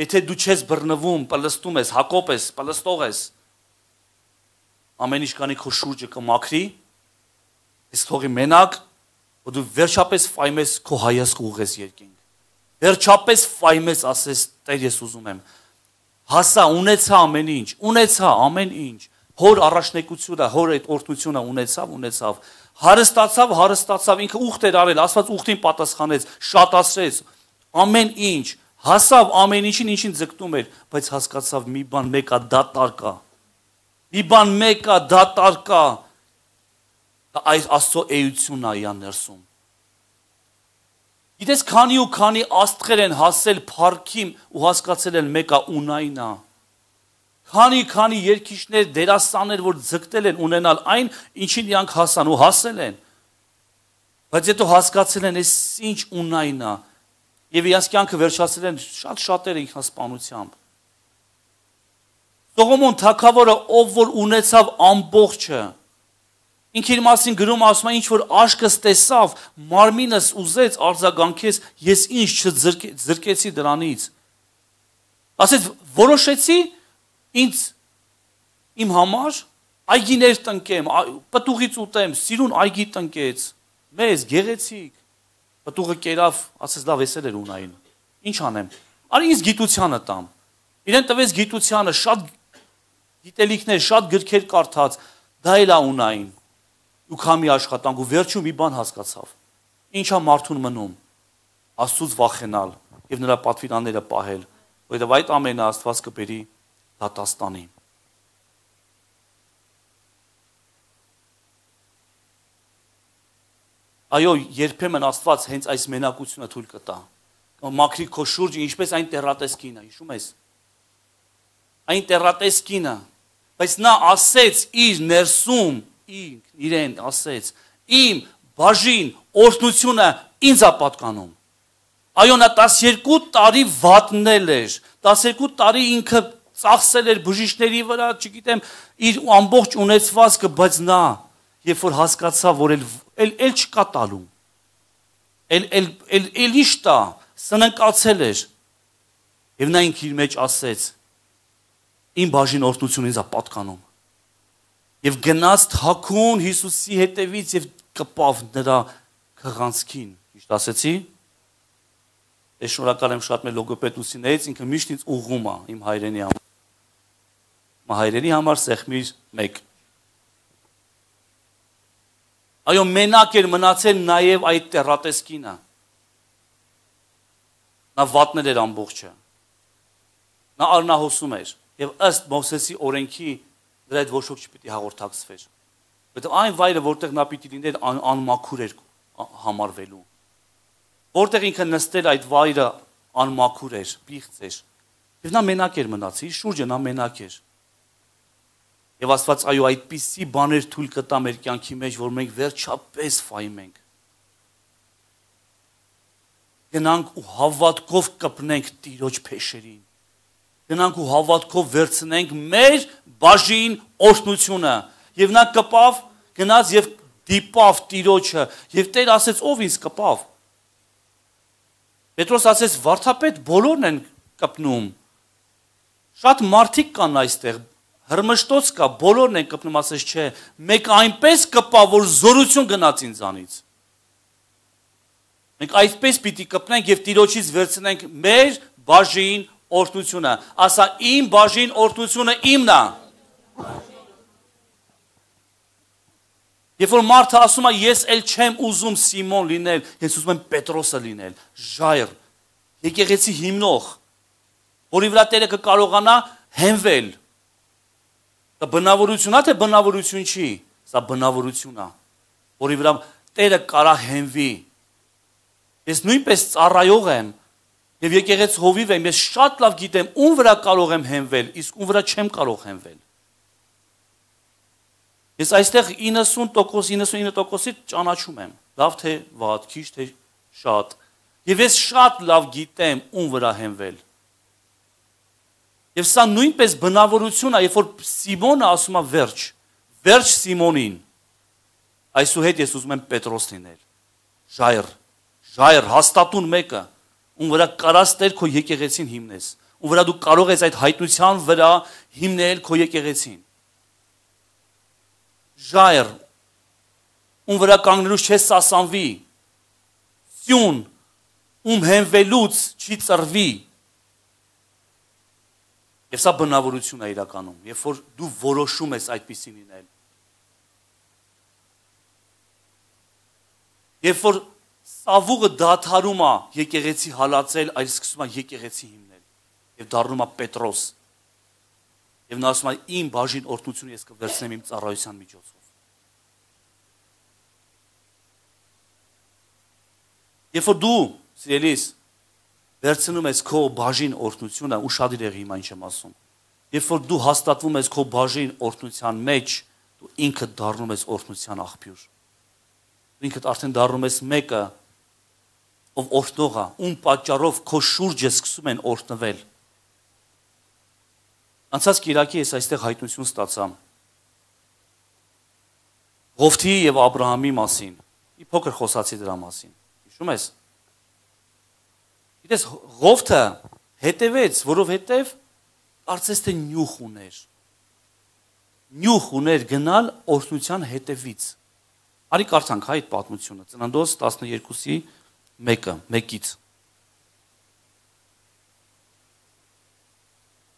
եթե դու չես բռնվում, պլստում ես, հակոպ ես, պլստող ես, ամեն ինչ կանի քո շուրջը կմաքրի, ես թողի մենակ, որ դու վերջապես ֆայմես քո հայացքը ուղես երկինք։ Վերջապես ֆայմես ասես, Տեր, ես ուզում եմ։ Հասա, ունեցա ամեն ինչ, ունեցա ամեն ինչ։ Հոր առաջնեկությունը, հոր այդ օրհնությունը ունեցավ, ունեցավ։ Հարստացավ, հարստացավ, ինքը ուխտ էր արել, Աստված ուխտին պատասխանեց, շատացրեց, ամեն ինչ, հասավ ամեն ինչին, ինչին ձգտում էր, բայց հասկացավ մի բան մեկա դատար կա։ Մի բան մեկա դատար կա։ Այս Աստծո էությունն է իան ներսում։ Գիտես քանի ու քանի աստղեր են հասել փառքին ու հասկացել են մեկա ունայնա։ Քանի քանի երկիշներ, դերասաններ, որ ձգտել են ունենալ այն, ինչին իրանք հասան ու հասել են։ Բայց հետո հասկացել են, այս ինչ ունայն է, եւ իրանք կյանքը վերջացրել են շատ շատերը ինքնասպանությամբ։ Սողոմոն թագավորը, ով որ ունեցավ ամբողջը, ինքն իր մասին գրում ասում է, ինչ որ աշկս տեսավ, մարմինս ուզեց արձագանքես, ես ինչ չձրկեցի դրանից։ Ասեց, որոշեցի ինձ իմ համար այգիներ տնկեմ, պտուղից ուտեմ, սիրուն այգի տնկեց, մեզ գեղեցիկ, պտուղը կերավ, ասեց լավ էսել էր ունային, ինչ անեմ, արի ինձ գիտությանը տամ, իրեն տվեց գիտությանը, շատ գիտելիքներ, շատ գրքեր կարդաց, դա էլ է ունային, ու քամի աշխատանք ու վերջում մի բան հասկացավ, ինչա մարդուն մնում, Աստծուց վախենալ եւ նրա պատվիրանները պահել, որովհետեւ այդ ամենը Աստված կբերի դատաստանի։ Այո, երբեմն Աստված հենց այս մենակությունը թույլ կտա։ Մաքրի քո շուրջը, ինչպես այն տերատեսկինը, հիշում ես։ Այն տերատեսկինը, բայց նա ասեց իր ներսում, ինքն իրեն ասեց, իմ բաժին օրհնությունը ինձ է պատկանում։ Այո, նա տասներկու տարի վատնել էր, տասներկու տարի ինքը ծախսել էր բժիշկների վրա, չգիտեմ, իր ամբողջ ունեցվածքը, բայց նա, երբ որ հասկացավ, որ էլ էլ չկա տալու, էլ էլ էլ էլ ինչ տա, սննկացել էր, եւ նա ինքն իր մեջ ասեց, իմ բաժին օրհնությունը ինձ է պատկանում, եւ գնաց թաքուն Հիսուսի հետևից եւ կպավ նրա քղանցքին, ճիշտ ասեցի։ Ես շնորհակալ եմ շատ մեր լոգոպեդ ուսիններից, ինքը միշտ ինձ ուղղում է իմ հայրենի համար։ Մա հայրենի համար սեղմիր մեկ։ Այո, մենակ էր մնացել նաև այդ տերատեսկինը։ Նա վատնել էր ամբողջը։ Նա արնահոսում էր եւ ըստ Մովսեսի օրենքի դրա այդ ոչ ոք չպիտի հաղորդակցվեր։ Որտեղ այն վայրը, որտեղ նա պիտի լիներ անմաքուր էր համարվելու։ Որտեղ ինքը նստել այդ վայրը անմաքուր էր, պիղծ էր։ Եվ նա մենակ էր մնացի, իր շուրջը նա մենակ էր։ Եվ Աստված այո այդպիսի բաներ թույլ կտա մեր կյանքի մեջ, որ մենք վերջապես ֆայմենք։ Գնանք ու հավատքով կպնենք Տիրոջ փեշերին։ Գնանք ու հավատքով վերցնենք մեր բաժին օրհնությունը։ Եվ նա կպավ, գնաց եւ դիպավ Տիրոջը, եւ Տեր ասեց, ով ինձ կպավ։ Պետրոս ասեց, վարդապետ բոլորն են կպնում։ Շատ մարդիկ կան այստեղ, հրմշտոց կա, բոլորն են կպնում, ասեց, չէ, մեկ այնպես կպա, որ զորություն գնաց ինձանից։ Մենք այսպես պիտի կպնենք եւ Տիրոջից վերցնենք մեր բաժին օրհնությունը։ Ասա, իմ բաժին օրհնությունը իմն է։ Երբ որ մարդը ասում է, ես էլ չեմ ուզում Սիմոն լինել, ես ուզում եմ Պետրոսը լինել, ժայռ, եկեղեցի հիմնող, որի վրա Տերը կկարողանա հենվել։ Դա բնավորություն է, թե բնավորություն չի, սա բնավորություն է, որի վրա Տերը կարա հենվի։ Ես նույնպես ծառայող եմ, եւ եկեղեցի հովիվ եմ, ես շատ լավ գիտեմ ում վրա կարող եմ հենվել, իսկ ում վրա չեմ կարող հենվել։ Ես այստեղ իննսուն տոկոս, իննսունինը տոկոսի ճանաչում եմ, լավ թե վատ, քիչ թե շատ, Եվ ես շատ լավ գիտեմ ում վրա հենվել։ Եվ սա նույնպես բնավորություն է, երբ որ Սիմոնը ասում է վերջ, վերջ Սիմոնին։ Այսուհետ ես ուզում եմ Պետրոս լինել։ Ժայռ, ժայռ հաստատուն մեկը, ում վրա կարաս Տեր քո եկեղեցին հիմնես, ում վրա դու կարող ես այդ հայտնության վրա հիմնել քո եկեղեցին։ Ժայռ, ում վրա կանգնելուց չես սասանվի, սյուն, ում հենվելուց չի ծռվի։ Եվ սա բնավորություն է իրականում, երբ որ դու որոշում ես այդպիսին լինել։ Երբ որ սավուղը դադարում է եկեղեցի հալածել, այլ սկսում է եկեղեցի հիմնել եւ դառնում է Պետրոս։ Եվ նա ասում է իմ բաժին օրհնությունը ես կվերցնեմ իմ ծառայության միջոցով։ Երբ որ դու, սիրելիս, վերցնում ես քո բաժին օրհնությունը, ուշադիր եղի հիմա ինչ եմ ասում։ Երբ որ դու հաստատվում ես քո բաժին օրհնության մեջ, դու ինքդ դառնում ես օրհնության աղբյուր։ Դու ինքդ արդեն դառնում ես մեկը, ով օրհնող է, ում պատճառով քո շուրջը սկսում են օրհնվել։ Անցած կիրակի ես այստեղ հայտնություն ստացա Ղովթի եւ Աբրահամի մասին։ Մի փոքր խոսացի դրա մասին։ Հիշում ես։ Գիտես, Ղովթը հետևեց, որովհետև կարծես թե նյուխ ուներ։ Նյուխ ուներ գնալ օրհնության հետևից։ Արի կարդանք հա այդ պատմությունը, Ծննդոց տասներկուսի մեկը, մեկից։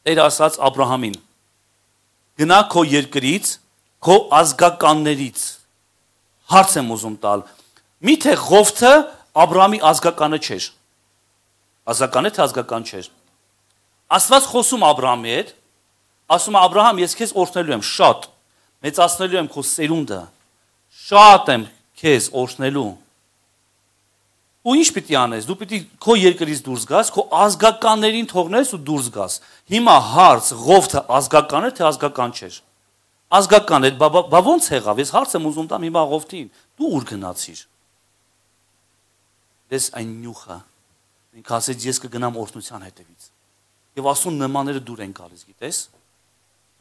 Տեր ասաց Աբրահամին. գնա քո երկրից, քո ազգականներից։ Հարց եմ ուզում տալ։ Միթե Ղովթը Աբրահամի ազգականը չէր։ Ազգական է թե ազգական չէր։ Աստված խոսում Աբրահամի հետ, ասում է Աբրահամ, ես քեզ օրհնելու եմ շատ, մեծացնելու եմ քո սերունդը, շատ եմ քեզ օրհնելու։ Ու ինչ պիտի անես, դու պիտի քո երկրից դուրս գաս, քո ազգականներին թողնես ու դուրս գաս։ Հիմա հարց, Ղովթը ազգական է թե ազգական չէր։ Ազգական է, բա ոնց եղավ, ես հարց եմ ուզում տամ հիմա Ղովթին, դու ուր գնացիր։ Դες այն նյուխը, ինքը ասեց ես կգնամ օրհնության հետևից։ Եվ ասուն նմաները դուր են գալիս, գիտես։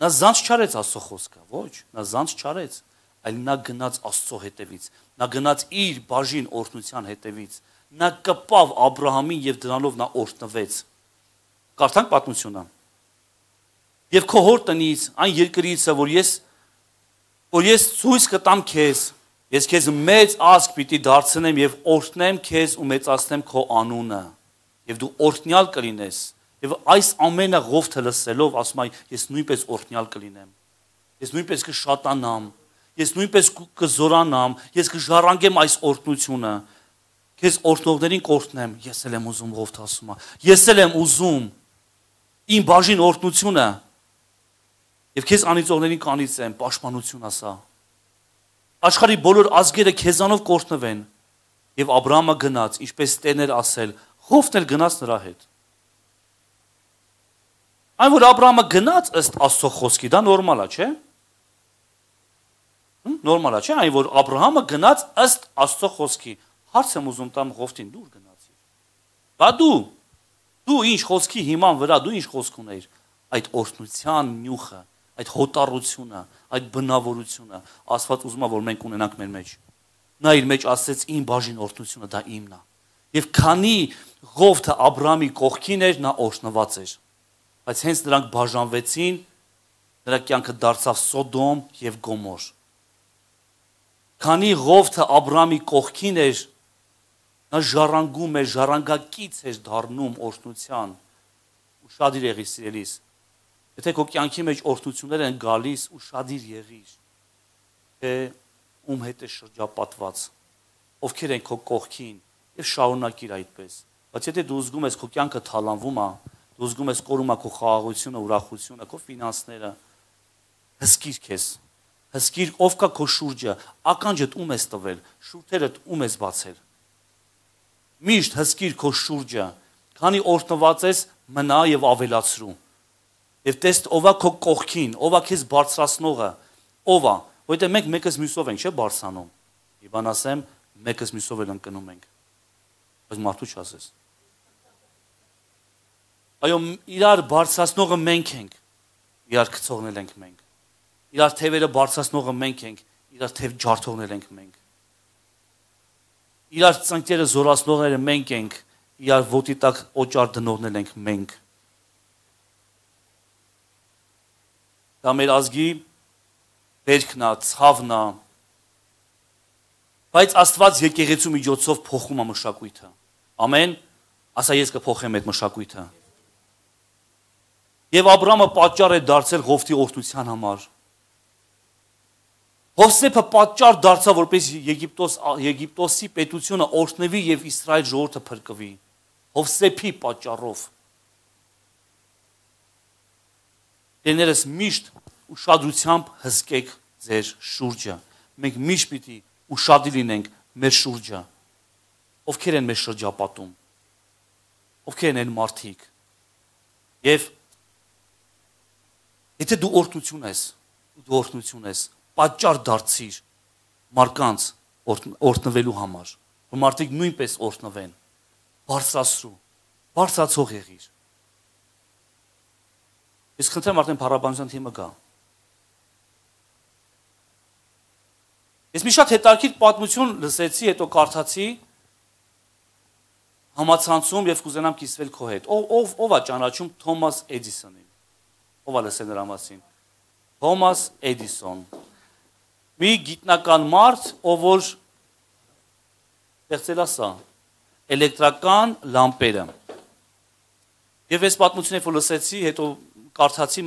Նա զանց չարեց Աստծո խոսքը, ոչ, նա զանց չարեց, այլ նա գնաց Աստծո հետևից, նա գնաց իր բաժին օրհնության հետևից, նա կպավ Աբրահամին եւ դրանով նա օրհնվեց։ Կարդանք պատմությունը։ Եվ քո հոր տնից, այն երկրիցը, որ ես որ ես ցույց կտամ քեզ, ես քեզ մեծ ազգ պիտի դարձնեմ եւ օրհնեմ քեզ ու մեծացնեմ քո անունը, եւ դու օրհնյալ կլինես։ Եվ այս ամենը Ղովթը լսելով ասում է ես նույնպես օրհնյալ կլինեմ։ Ես նույնպես կշատանամ, ես նույնպես կզորանամ, ես կժառանգեմ այս օրհնությունը։ Քեզ օրհնողներին կօրհնեմ, ես էլ եմ ուզում Ղովթը ասում է։ Ես էլ եմ ուզում իմ բաժին օրհնությունը եւ քեզ անիծողներին կանիծեմ, պաշտպանություն ասա։ Աշխարհի բոլոր ազգերը քեզանով կօրհնվեն։ Եվ Աբրահամը գնաց, ինչպես Տերն էր ասել, Ղովթն էլ գնաց նրա հետ։ Այն որ Աբրահամը գնաց ըստ Աստծո խոսքի, դա նորմալ է, չէ՞։ Նորմալ է, չէ՞, այն որ Աբրահամը գնաց ըստ Աստծո խոսքի։ Հարց եմ ուզում տամ Ղովթին, դու ուր գնացիր։ Բա դու, դու ինչ խոսքի հիման վրա, դու ինչ խոսք ունեիր, այդ օրհնության նյուխը, այդ հոտառությունը, այդ բնավորությունը, Աստված ուզում է, որ մենք ունենանք մեր մեջ։ Նա իր մեջ ասեց իմ բաժին օրհնությունը դա իմն է։ Եվ քանի Ղովթը Աբրահամի կողքին էր, նա օրհնված էր։ Բայց հենց նրանք բաժանվեցին, նրա կյանքը դարձավ Սոդոմ եւ Գոմոր։ Քանի Ղովթը Աբրահամի կողքին էր, նա ժառանգում էր, ժառանգակից էր դառնում օրհնության։ Ուշադիր եղիր, սիրելիս։ Եթե քո կյանքի մեջ օրհնություններ են գալիս, ուշադիր եղիր, թե ում հետ է շրջապատված, ովքեր են քո կողքին, եւ շարունակիր այդպես։ Բայց եթե դու զգում ես քո կյանքը թալանվում է, դու զգում ես կորում է քո խաղաղությունը, ուրախությունը, քո ֆինանսները, հսկիր քեզ։ Հսկիր ով կա քո շուրջը, ականջդ ում ես տվել, շուրթերդ ում ես բացել։ Միշտ հսկիր քո շուրջը, քանի օրհնված ես, մնա եւ ավելացրու։ Եվ տես ով է քո կողքին, ով է քեզ բարձրացնողը, ով է, որտեղ մենք մեկս մյուսով ենք, չէ՞ բարձրանում։ Իբան ասեմ, մեկս մյուսով էլ ընկնում ենք։ Բայց մարդու չասես։ Այո, իրար բարձրացնողը մենք ենք, իրար գցողնել ենք մենք։ Իրար թևերը բարձրացնողը մենք ենք, իրար թև ջարդողնել ենք մենք։ Իրար ծնկները զորացնողները մենք ենք, իրար ոտի տակ օճառ դնողնել ենք մենք։ Դա մեր ազգի բերքն է, ցավն է։ Բայց Աստված եկեղեցու միջոցով փոխում է մշակույթը։ Ամեն, ասա ես կփոխեմ այդ մշակույթը։ Եվ Աբրամը պատճառ է դարձել Ղովտի օրհնության համար։ Հովսեփը պատճառ դարձավ, որպես Եգիպտոս Եգիպտոսի պետությունը օրհնվի եւ Իսրայել ժողովուրդը փրկվի։ Հովսեփի պատճառով։ Դեներս միշտ ուշադրությամբ հսկեք ձեր շուրջը։ Մենք միշտ պիտի ուշադիր լինենք մեր շուրջը։ Ովքեր են մեր շրջապատում։ Ովքեր են մարդիկ։ Եվ եթե դու օրհնություն ես, դու օրհնություն ես, պատճառ դարձիր մարկանց օրհնվելու համար, որ մարդիկ նույնպես օրհնվեն, բարձրացրու, բարձրացող եղիր։ Ես խնդրեմ արդեն փառաբանության թիմը գա։ Ես մի շատ հետաքրքիր պատմություն լսեցի, հետո կարդացի համացանցում եւ կուզենամ կիսվել քո հետ։ Ով ով ով է ճանաչում Թոմաս Էդիսոնին։ Ով է լսել նրա մասին։ Թոմաս Էդիսոն։ Մի գիտնական մարդ, ով որ ստեղծել է սա, էլեկտրական լամպերը։ Եվ այս պատմությունը որ լսեցի, հետո կարդացի,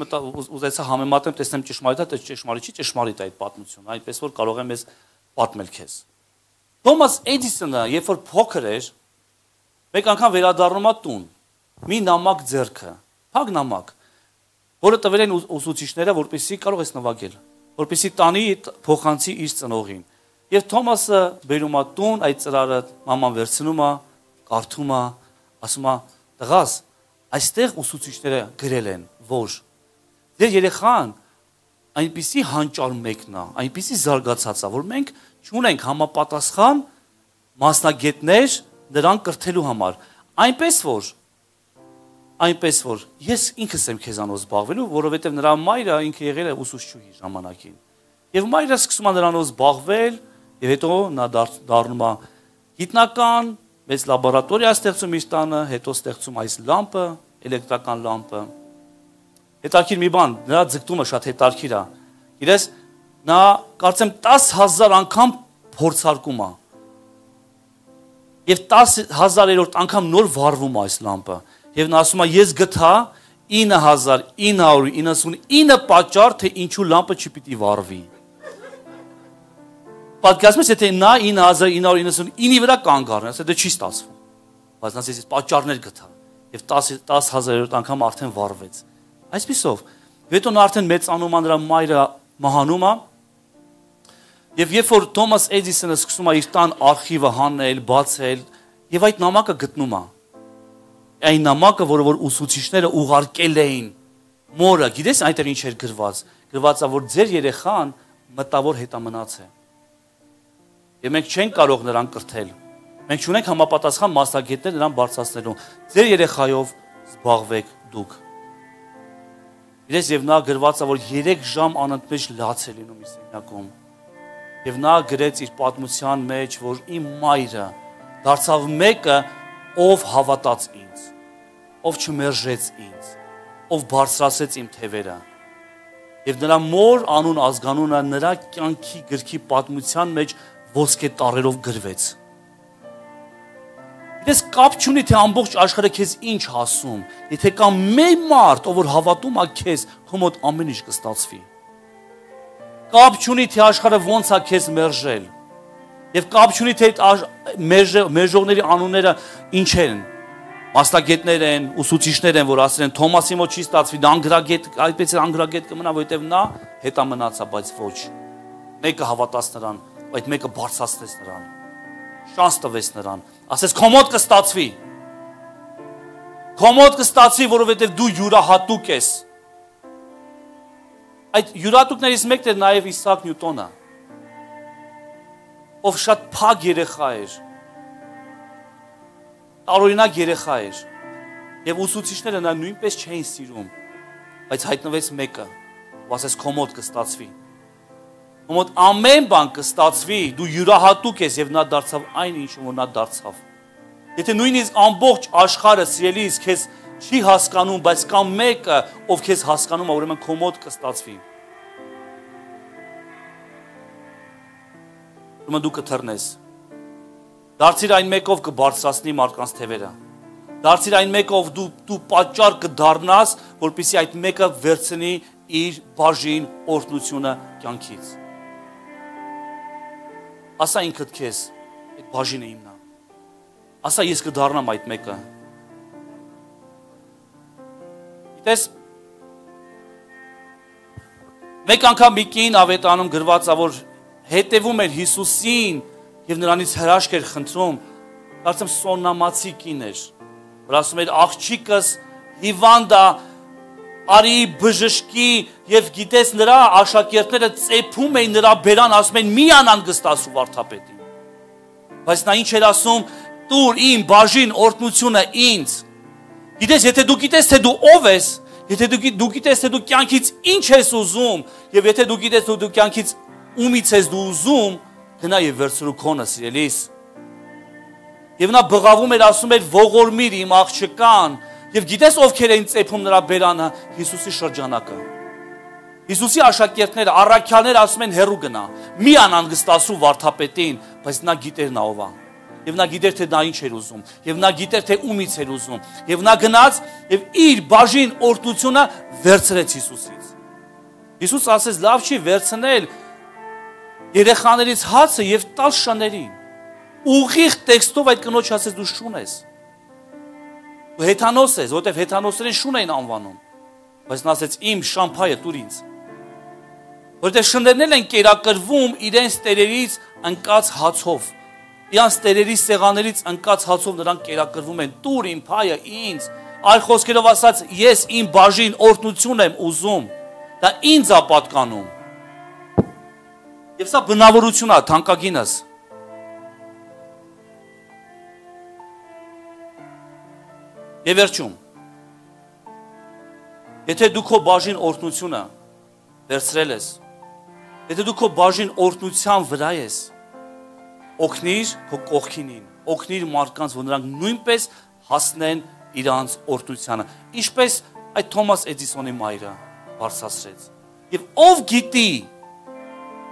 ուզեցա համեմատեմ, տեսնեմ ճշմարիտ է, թե ճշմարիտ չի, ճշմարիտ է այդ պատմությունը, այնպես որ կարող եմ ես պատմել քեզ։ Թոմաս Էդիսոնը, երբ որ փոքր էր, մեկ անգամ վերադառնում է տուն, մի նամակ ձեռքը, փակ նամակ, որը տվել են ուսուցիչները, որպեսզի կարող ես նվագել, որպեսզի տանի փոխանցի իր ծնողին։ Եվ Թոմասը բերում է տուն, այդ ծրարը մաման վերցնում է, կարդում է, ասում է, տղաս, այստեղ ուսուցիչները գրել են, որ ձեր երեխան այնպիսի հանճար մեկն է, այնպիսի զարգացած է, որ մենք չունենք համապատասխան մասնագետներ նրան կրթելու համար, այնպես որ այնպես որ ես ինքս եմ քեզանով զբաղվելու, որովհետև նրա մայրը ինքը եղել է ուսուցչուհի ժամանակին։ Եվ մայրը սկսում է նրանով զբաղվել, եւ հետո նա դառնում է գիտնական, մեծ լաբորատորիա ստեղծում իր տանը, հետո ստեղծում այս լամպը, էլեկտրական լամպը։ Հետաքրքիր մի բան, նրա ձգտումը շատ հետաքրքիր է։ Գիտես, նա կարծեմ տասը հազար անգամ փորձարկում է։ Եվ տասը հազարերորդ անգամ նոր վառվում է այս լամպը։ Եվ նա ասում է, ես գտա ինը հազար ինը հարյուր իննսունինը պատճառ, թե ինչու լամպը չպիտի վառվի։ Պատկերացնում ես, եթե նա ինը հազար ինը հարյուր իննսունինի վրա կանգ առնի, ասա դա չի ստացվում։ Բայց նա ասես ես պատճառներ գտա եւ տասը հազարերորդ անգամ արդեն վառվեց։ Այսպիսով, հետո նա արդեն մեծանում է, նրա մայրը մահանում է։ Եվ երբ որ Թոմաս Էդիսոնը սկսում է իր տան արխիվը հանել, բացել, եւ այդ նամակը գտնում է։ Այն նամակը, որը որ ուսուցիչները ուղարկել էին մորը, գիտես այնտեղ ինչ էր գրված։ Գրված է, որ ձեր երեխան մտավոր հետամնաց է։ Եվ մենք չենք կարող նրան կրթել։ Մենք չունենք համապատասխան մասնագետներ նրան բարձրացնելու։ Ձեր երեխայով զբաղվեք դուք։ Գիտես, եւ նա գրված է, որ երեք ժամ անընդմեջ լաց է լինում իր սենյակում։ Եվ նա գրեց իր պատմության մեջ, որ իմ մայրը դարձավ մեկը, ով հավատաց ինձ, ով չմերժեց ինձ, ով բարձրացեց իմ թևերը։ Եվ նրա մոր անուն ազգանունը նրա կյանքի գրքի պատմության մեջ ոսկե տառերով գրվեց։ Ես կապ չունի, թե ամբողջ աշխարհը քեզ ինչ ասում, եթե կա մեկ մարդ, ով որ հավատում է քեզ, քո մոտ ամեն ինչ կստացվի։ Կապ չունի, թե աշխարհը ոնց է քեզ մերժել։ Եվ կապ չունի, թե մերժողների անունները ինչ են։ Մասնագետներ են, ուսուցիչներ են, որ ասել են Թոմասի մոտ չի ստացվի, դա անգրագետ, այդպես է անգրագետ կմնա, որովհետև նա հետամնաց է, բայց ոչ։ Մեկը հավատաց նրան, այդ մեկը բարձրացրեց նրան։ Շանս տվեց նրան։ Ասես քո մոտ կստացվի։ Քո մոտ կստացվի, որովհետև դու յուրահատուկ ես։ Այդ յուրահատուկներից մեկն էր նաև Իսաակ Նյուտոնը, ով շատ փակ երեխա էր։ տարօրինակ երեխա էր։ Եվ ուսուցիչները նա նույնպես չէին սիրում, բայց հայտնվեց մեկը, ու ասես քո մոտ կստացվի։ Քո մոտ ամեն բան կստացվի, դու յուրահատուկ ես եւ նա դարձավ այն ինչ որ նա դարձավ։ Եթե նույնիսկ ամբողջ աշխարհը սիրելիս քեզ չի հասկանում, բայց կա մեկը, ով քեզ հասկանում է, ուրեմն քո մոտ կստացվի։ Ուրեմն դու կթռնես։ Դարձիր այն մեկով կբարձրացնի մարդկանց թևերը։ Դարձիր այն մեկով դու դու պատճառ կդառնաս, որպեսզի այդ մեկը վերցնի իր բաժին օրհնությունը կյանքից։ Ասա ինքդ քեզ, այդ բաժինը իմն է։ Ասա ես կդառնամ այդ մեկը։ Գիտես, մեկ անգամ մի կին ավետանում գրված է, որ հետևում էր Հիսուսին եւ նրանից հրաշք էր խնդրում, կարծեմ սոննամացի կին էր, որ ասում էր աղջիկս հիվանդ է, արի բժշկի եւ գիտես նրա աշակերտները ծեփում էին նրա բերան, ասում են մի անհանգստացու վարդապետին։ Բայց նա ինչ էր ասում, տուր իմ բաժին օրհնությունը ինձ։ Գիտես, եթե դու գիտես թե դու ով ես, եթե դու դու գիտես թե դու կյանքից ինչ ես ուզում, եւ եթե դու գիտես թե դու կյանքից ումից ես դու ուզում, գնա եւ վերցրու քոնը, սիրելիս։ Եվ նա բղավում էր, ասում էր ողորմիր իմ աղջկան, եւ գիտես ովքեր էին ծեփում նրա բերանը, Հիսուսի շրջանակը։ Հիսուսի աշակերտները, առաքյալները ասում են հեռու գնա, մի անհանգստացու վարդապետին, բայց նա գիտեր նա ով է։ Եվ նա գիտեր թե նա ինչ էր ուզում, եւ նա գիտեր թե ումից էր ուզում, եւ նա գնաց եւ իր բաժին օրհնությունը վերցրեց Հիսուսից։ Հիսուս ասեց, լավ չի վերցնել երեխաներից հացը եւ տալ շներին։ Ուղիղ տեքստով այդ կնոջ ասեց դու շուն ես։ Դու հեթանոս ես, որտեվ հեթանոսերեն շուն էին անվանում։ Բայց նա ասեց իմ շամփայը տուր ինձ։ Որտեվ շներն են կերակրվում իրենց տերերից ընկած հացով։ Իրանց տերերի սեղաներից ընկած հացով նրանք կերակրվում են, տուր իմ փայը ինձ, այլ խոսքերով ասած, ես իմ բաժին օրհնություն եմ ուզում, դա ինձ է պատկանում։ Եվ սա բնավորություն է, թանկագինս։ Եվ վերջում, եթե դու քո բաժին օրհնությունը վերցրել ես, եթե դու քո բաժին օրհնության վրա ես, օգնիր քո կողքինին, օգնիր մարդկանց, որ նրանք նույնպես հասնեն իրանց օրհնությանը, ինչպես այդ Թոմաս Էդիսոնի մայրը բարձրացրեց։ Եվ ով գիտի,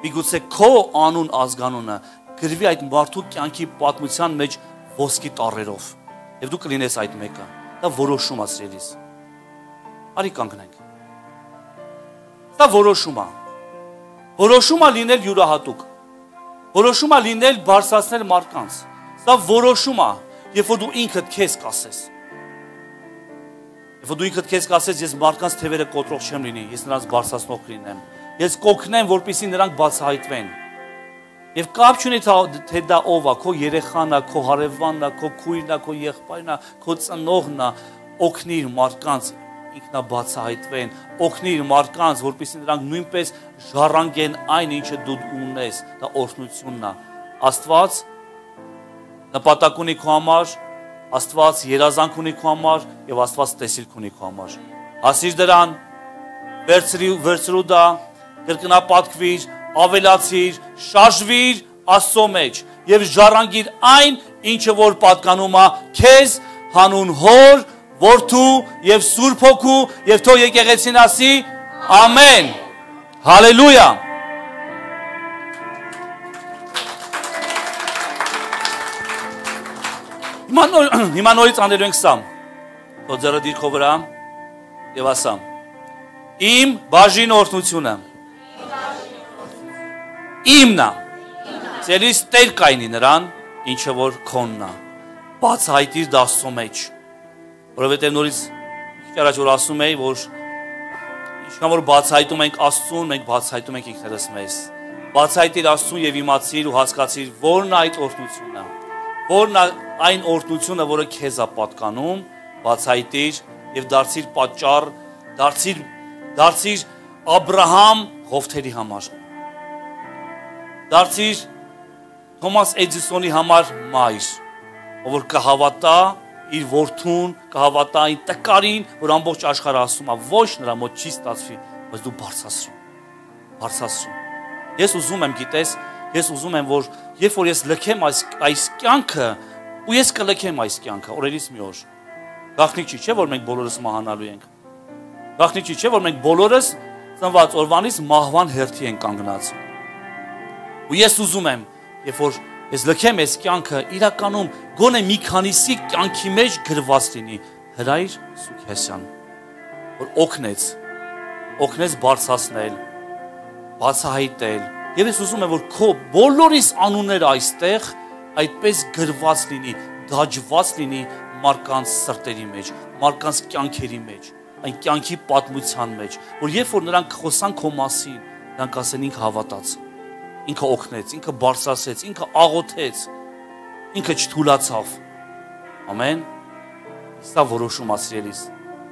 միգուցե քո անուն ազգանունը գրվի այդ մարդու կյանքի պատմության մեջ ոսկի տառերով, եւ դու կլինես այդ մեկը։ Դա որոշում է, սիրելիս։ Արի կանգնենք։ Դա որոշում է։ Որոշում է լինել յուրահատուկ։ Որոշում է լինել բարձրացնել մարդկանց։ Սա որոշում է, երբ որ դու ինքդ քեզ կասես։ Երբ որ դու ինքդ քեզ կասես, ես մարդկանց թևերը կոտրող չեմ լինի, ես նրանց բարձրացնող կլինեմ։ Ես կօգնեմ, որպեսզի նրանք բացահայտվեն։ Եվ կապ չունի թե դա ով է, քո երեխան է, քո հարևանն է, քո քույրն է, քո եղբայրն է, քո ծնողն է, օգնիր մարդկանց ինքնաբացահայտվեն, օգնիր մարդկանց, որպեսզի նրանք նույնպես ժառանգեն այն, ինչը դու ունես, դա օրհնությունն է։ Աստված նպատակ ունի քո համար, Աստված երազանք ունի քո համար եւ Աստված տեսիլք ունի քո համար։ Հասիր դրան, վերցրու վերցրու դա, կրկնապատկվիր, ավելացիր, շարժվիր Աստծո մեջ եւ ժառանգիր այն, ինչը որ պատկանում է քեզ հանուն Հոր, Որդու եւ Սուրբ Հոգու եւ թող եկեղեցին ասի ամեն։ Հալելույա։ Հիմա նորից անելու ենք սամ։ Թող ձեռը դիր քո վրա եւ ասամ. Իմ բաժին օրհնությունը իմն է։ Ձերից Տեր կայնի նրան, ինչը որ քոնն է։ Բացահայտիր դա Աստծո մեջ։ Որովհետև նորից քիչ առաջ որ ասում էի, որ ինչքան որ բացահայտում ենք Աստծուն, մենք բացահայտում ենք ինքներս մեզ։ Բացահայտիր Աստծուն եւ իմացիր ու հասկացիր, որն է այդ օրհնությունը, որն է այն օրհնությունը, որը քեզ է պատկանում, բացահայտիր եւ դարձիր պատճառ, դարձիր դարձիր Աբրահամ Ղովթերի համար։ Դարձիր Թոմաս Էդիսոնի համար մայր, ով որ կհավատա իր որդուն կհավատա այն տկարին, որ ամբողջ աշխարհը ասում է, ոչ նրա մոտ չի ստացվի, բայց դու բարձրացրու։ Բարձրացրու։ Ես ուզում եմ, գիտես, ես ուզում եմ, որ երբ որ ես լքեմ այս այս կյանքը, ու ես կլքեմ այս կյանքը, օրերից մի օր։ Գաղտնիք չի, չէ՞ որ մենք բոլորս մահանալու ենք։ Գաղտնիք չի, չէ՞ որ մենք բոլորս ծնված օրվանից մահվան հերթի ենք կանգնած։ Ու ես ուզում եմ, երբ որ ես լքեմ այս կյանքը, իրականում գոնե մի քանիսի կյանքի մեջ գրված լինի Հրայր Սուքեսյան, որ օգնեց, օգնեց բարձրացնել, բացահայտել, եւ ես ուզում եմ, որ քո բոլորիս անունները այստեղ այդպես գրված լինի, դաջված լինի մարդկանց սրտերի մեջ, մարդկանց կյանքերի մեջ, այն կյանքի պատմության մեջ, որ երբ որ նրանք խոսան քո մասին, նրանք ասեն ինքը հավատաց, ինքը օգնեց, ինքը բարձրացեց, ինքը աղոթեց, ինքը չթուլացավ։ Ամեն։ Սա որոշում ասրելիս,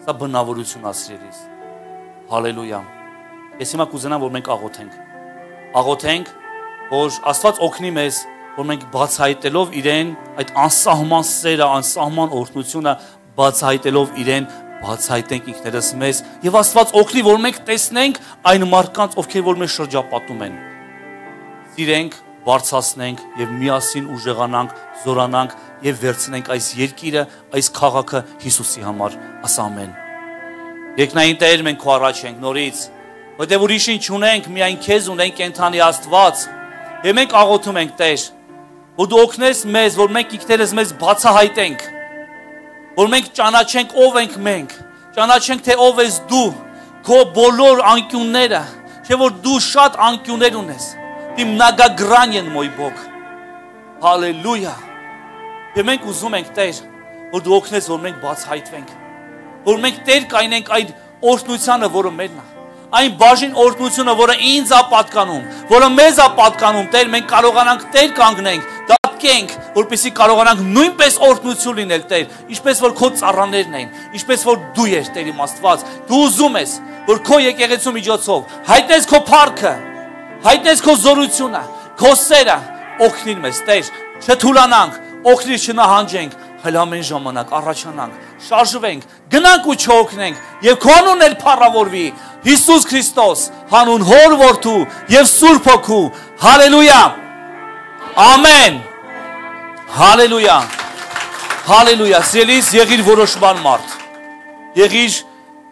սա բնավորություն ասրելիս։ Հալելույա։ Ես հիմա կուզենամ, որ մենք աղոթենք։ Աղոթենք, որ Աստված օգնի մեզ, որ մենք բացահայտելով իրեն, այդ անսահման սերը, անսահման օրհնությունը բացահայտելով իրեն, բացահայտենք ինքներս մեզ եւ Աստված օգնի, որ մենք տեսնենք այն մարդկանց, ովքեր որ մեզ շրջապատում են։ Սիրենք, բարձրացնենք եւ միասին ուժեղանանք, զորանանք եւ վերցնենք այս երկիրը, այս քաղաքը Հիսուսի համար։ Ասա ամեն։ Երկնային Տեր, մենք քո առաջ ենք նորից, որտեղ ուրիշին չունենք, միայն քեզ ունենք, կենթանի Աստված։ Եվ մենք աղոթում ենք, Տեր, որ դու օգնես մեզ, որ մենք ինքներս մեզ բացահայտենք, որ մենք ճանաչենք ով ենք մենք, ճանաչենք թե ով ես դու, քո բոլոր անկյունները, չէ որ դու շատ անկյուններ ունես, ты многогранен, мой Бог, հալելույա, եւ մենք ուզում ենք, Տեր, որ դու օգնես, որ մենք բացահայտվենք, որ մենք Տեր կայնենք այդ օրհնությանը, որը մերն է, այն բաժին օրհնությունը, որը ինձ է պատկանում, որը մեզ է պատկանում, Տեր, մենք կարողանանք Տեր կանգնենք, դատկենք, որպեսզի կարողանանք նույնպես օրհնություն լինել, Տեր, ինչպես որ քո ծառաներն են, ինչպես որ դու ես, Տեր իմ Աստված, դու ուզում ես, որ քո եկեղեցու միջոցով հայտնես քո փառքը, հայտնես քո զորությունը, քո սերը, օգնիր մեզ, Տեր, չթուլանանք, օգնիր չնահանջենք, հəl ամեն ժամանակ առաջանանք, շարժվենք, գնանք ու չօգնենք եւ քո անունն էլ փառավորվի Հիսուս Քրիստոս, հանուն Հոր Որդու եւ Սուրբ Հոգու, հալելույա, ամեն, հալելույա, հալելույա, սիրելիս, եղիր որոշման մարդ, եղիր,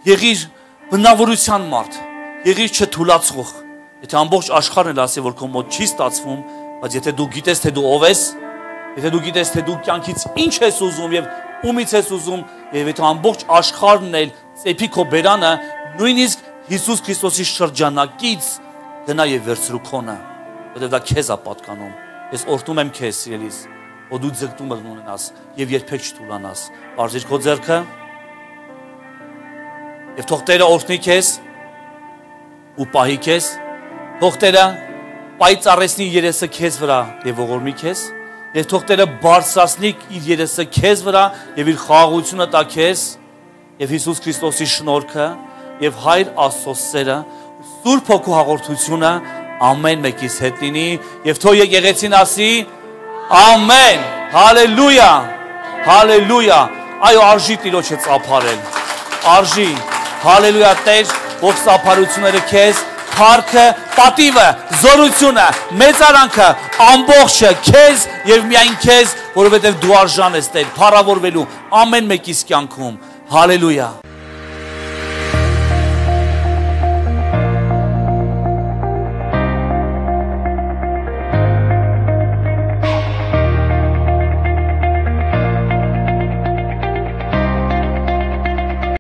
եղիր բնավորության մարդ, եղիր չթուլացող, եթե ամբողջ աշխարհն էլ ասի, որ քո մոտ չի ստացվում, բայց եթե դու գիտես, թե դու ով ես, եթե դու գիտես, թե դու կյանքից ինչ ես ուզում եւ ումից ես ուզում, եւ եթե ամբողջ աշխարհն էլ ծեփի քո բերանը, նույնիսկ Հիսուս Քրիստոսի շրջանակից գնա եւ վերցրու քոնը, որովհետեւ դա քեզ է պատկանում։ Ես օրհնում եմ քեզ, սիրելիս, որ դու ձգտում ունենաս եւ երբեք չթուլանաս։ Բարձիր քո ձեռքը եւ թող Տերը օրհնի քեզ ու պահի քեզ, թող Տերը պայծառեցնի երեսը քեզ վրա եւ ողորմի քեզ, եւ թող Տերը բարձրացնի իր երեսը քեզ վրա եւ իր խաղաղությունը տա քեզ եւ Հիսուս Քրիստոսի շնորհքը եւ Հայր Աստծո սերը, Սուրբ Հոգու հաղորդությունը ամեն մեկիս հետ լինի եւ թող եկեղեցին ասի ամեն, հալելույա, հալելույա, այո, արժի Տիրոջը ծափարել, արժի, հալելույա, Տեր, ողջ ծափարությունները քեզ, փառքը, պատիվը, զորությունը, մեծարանքը, ամբողջը քեզ եւ միայն քեզ, որովհետեւ դու արժան ես, Տեր, փառավորվելու ամեն մեկիս կյանքում, հալելույա։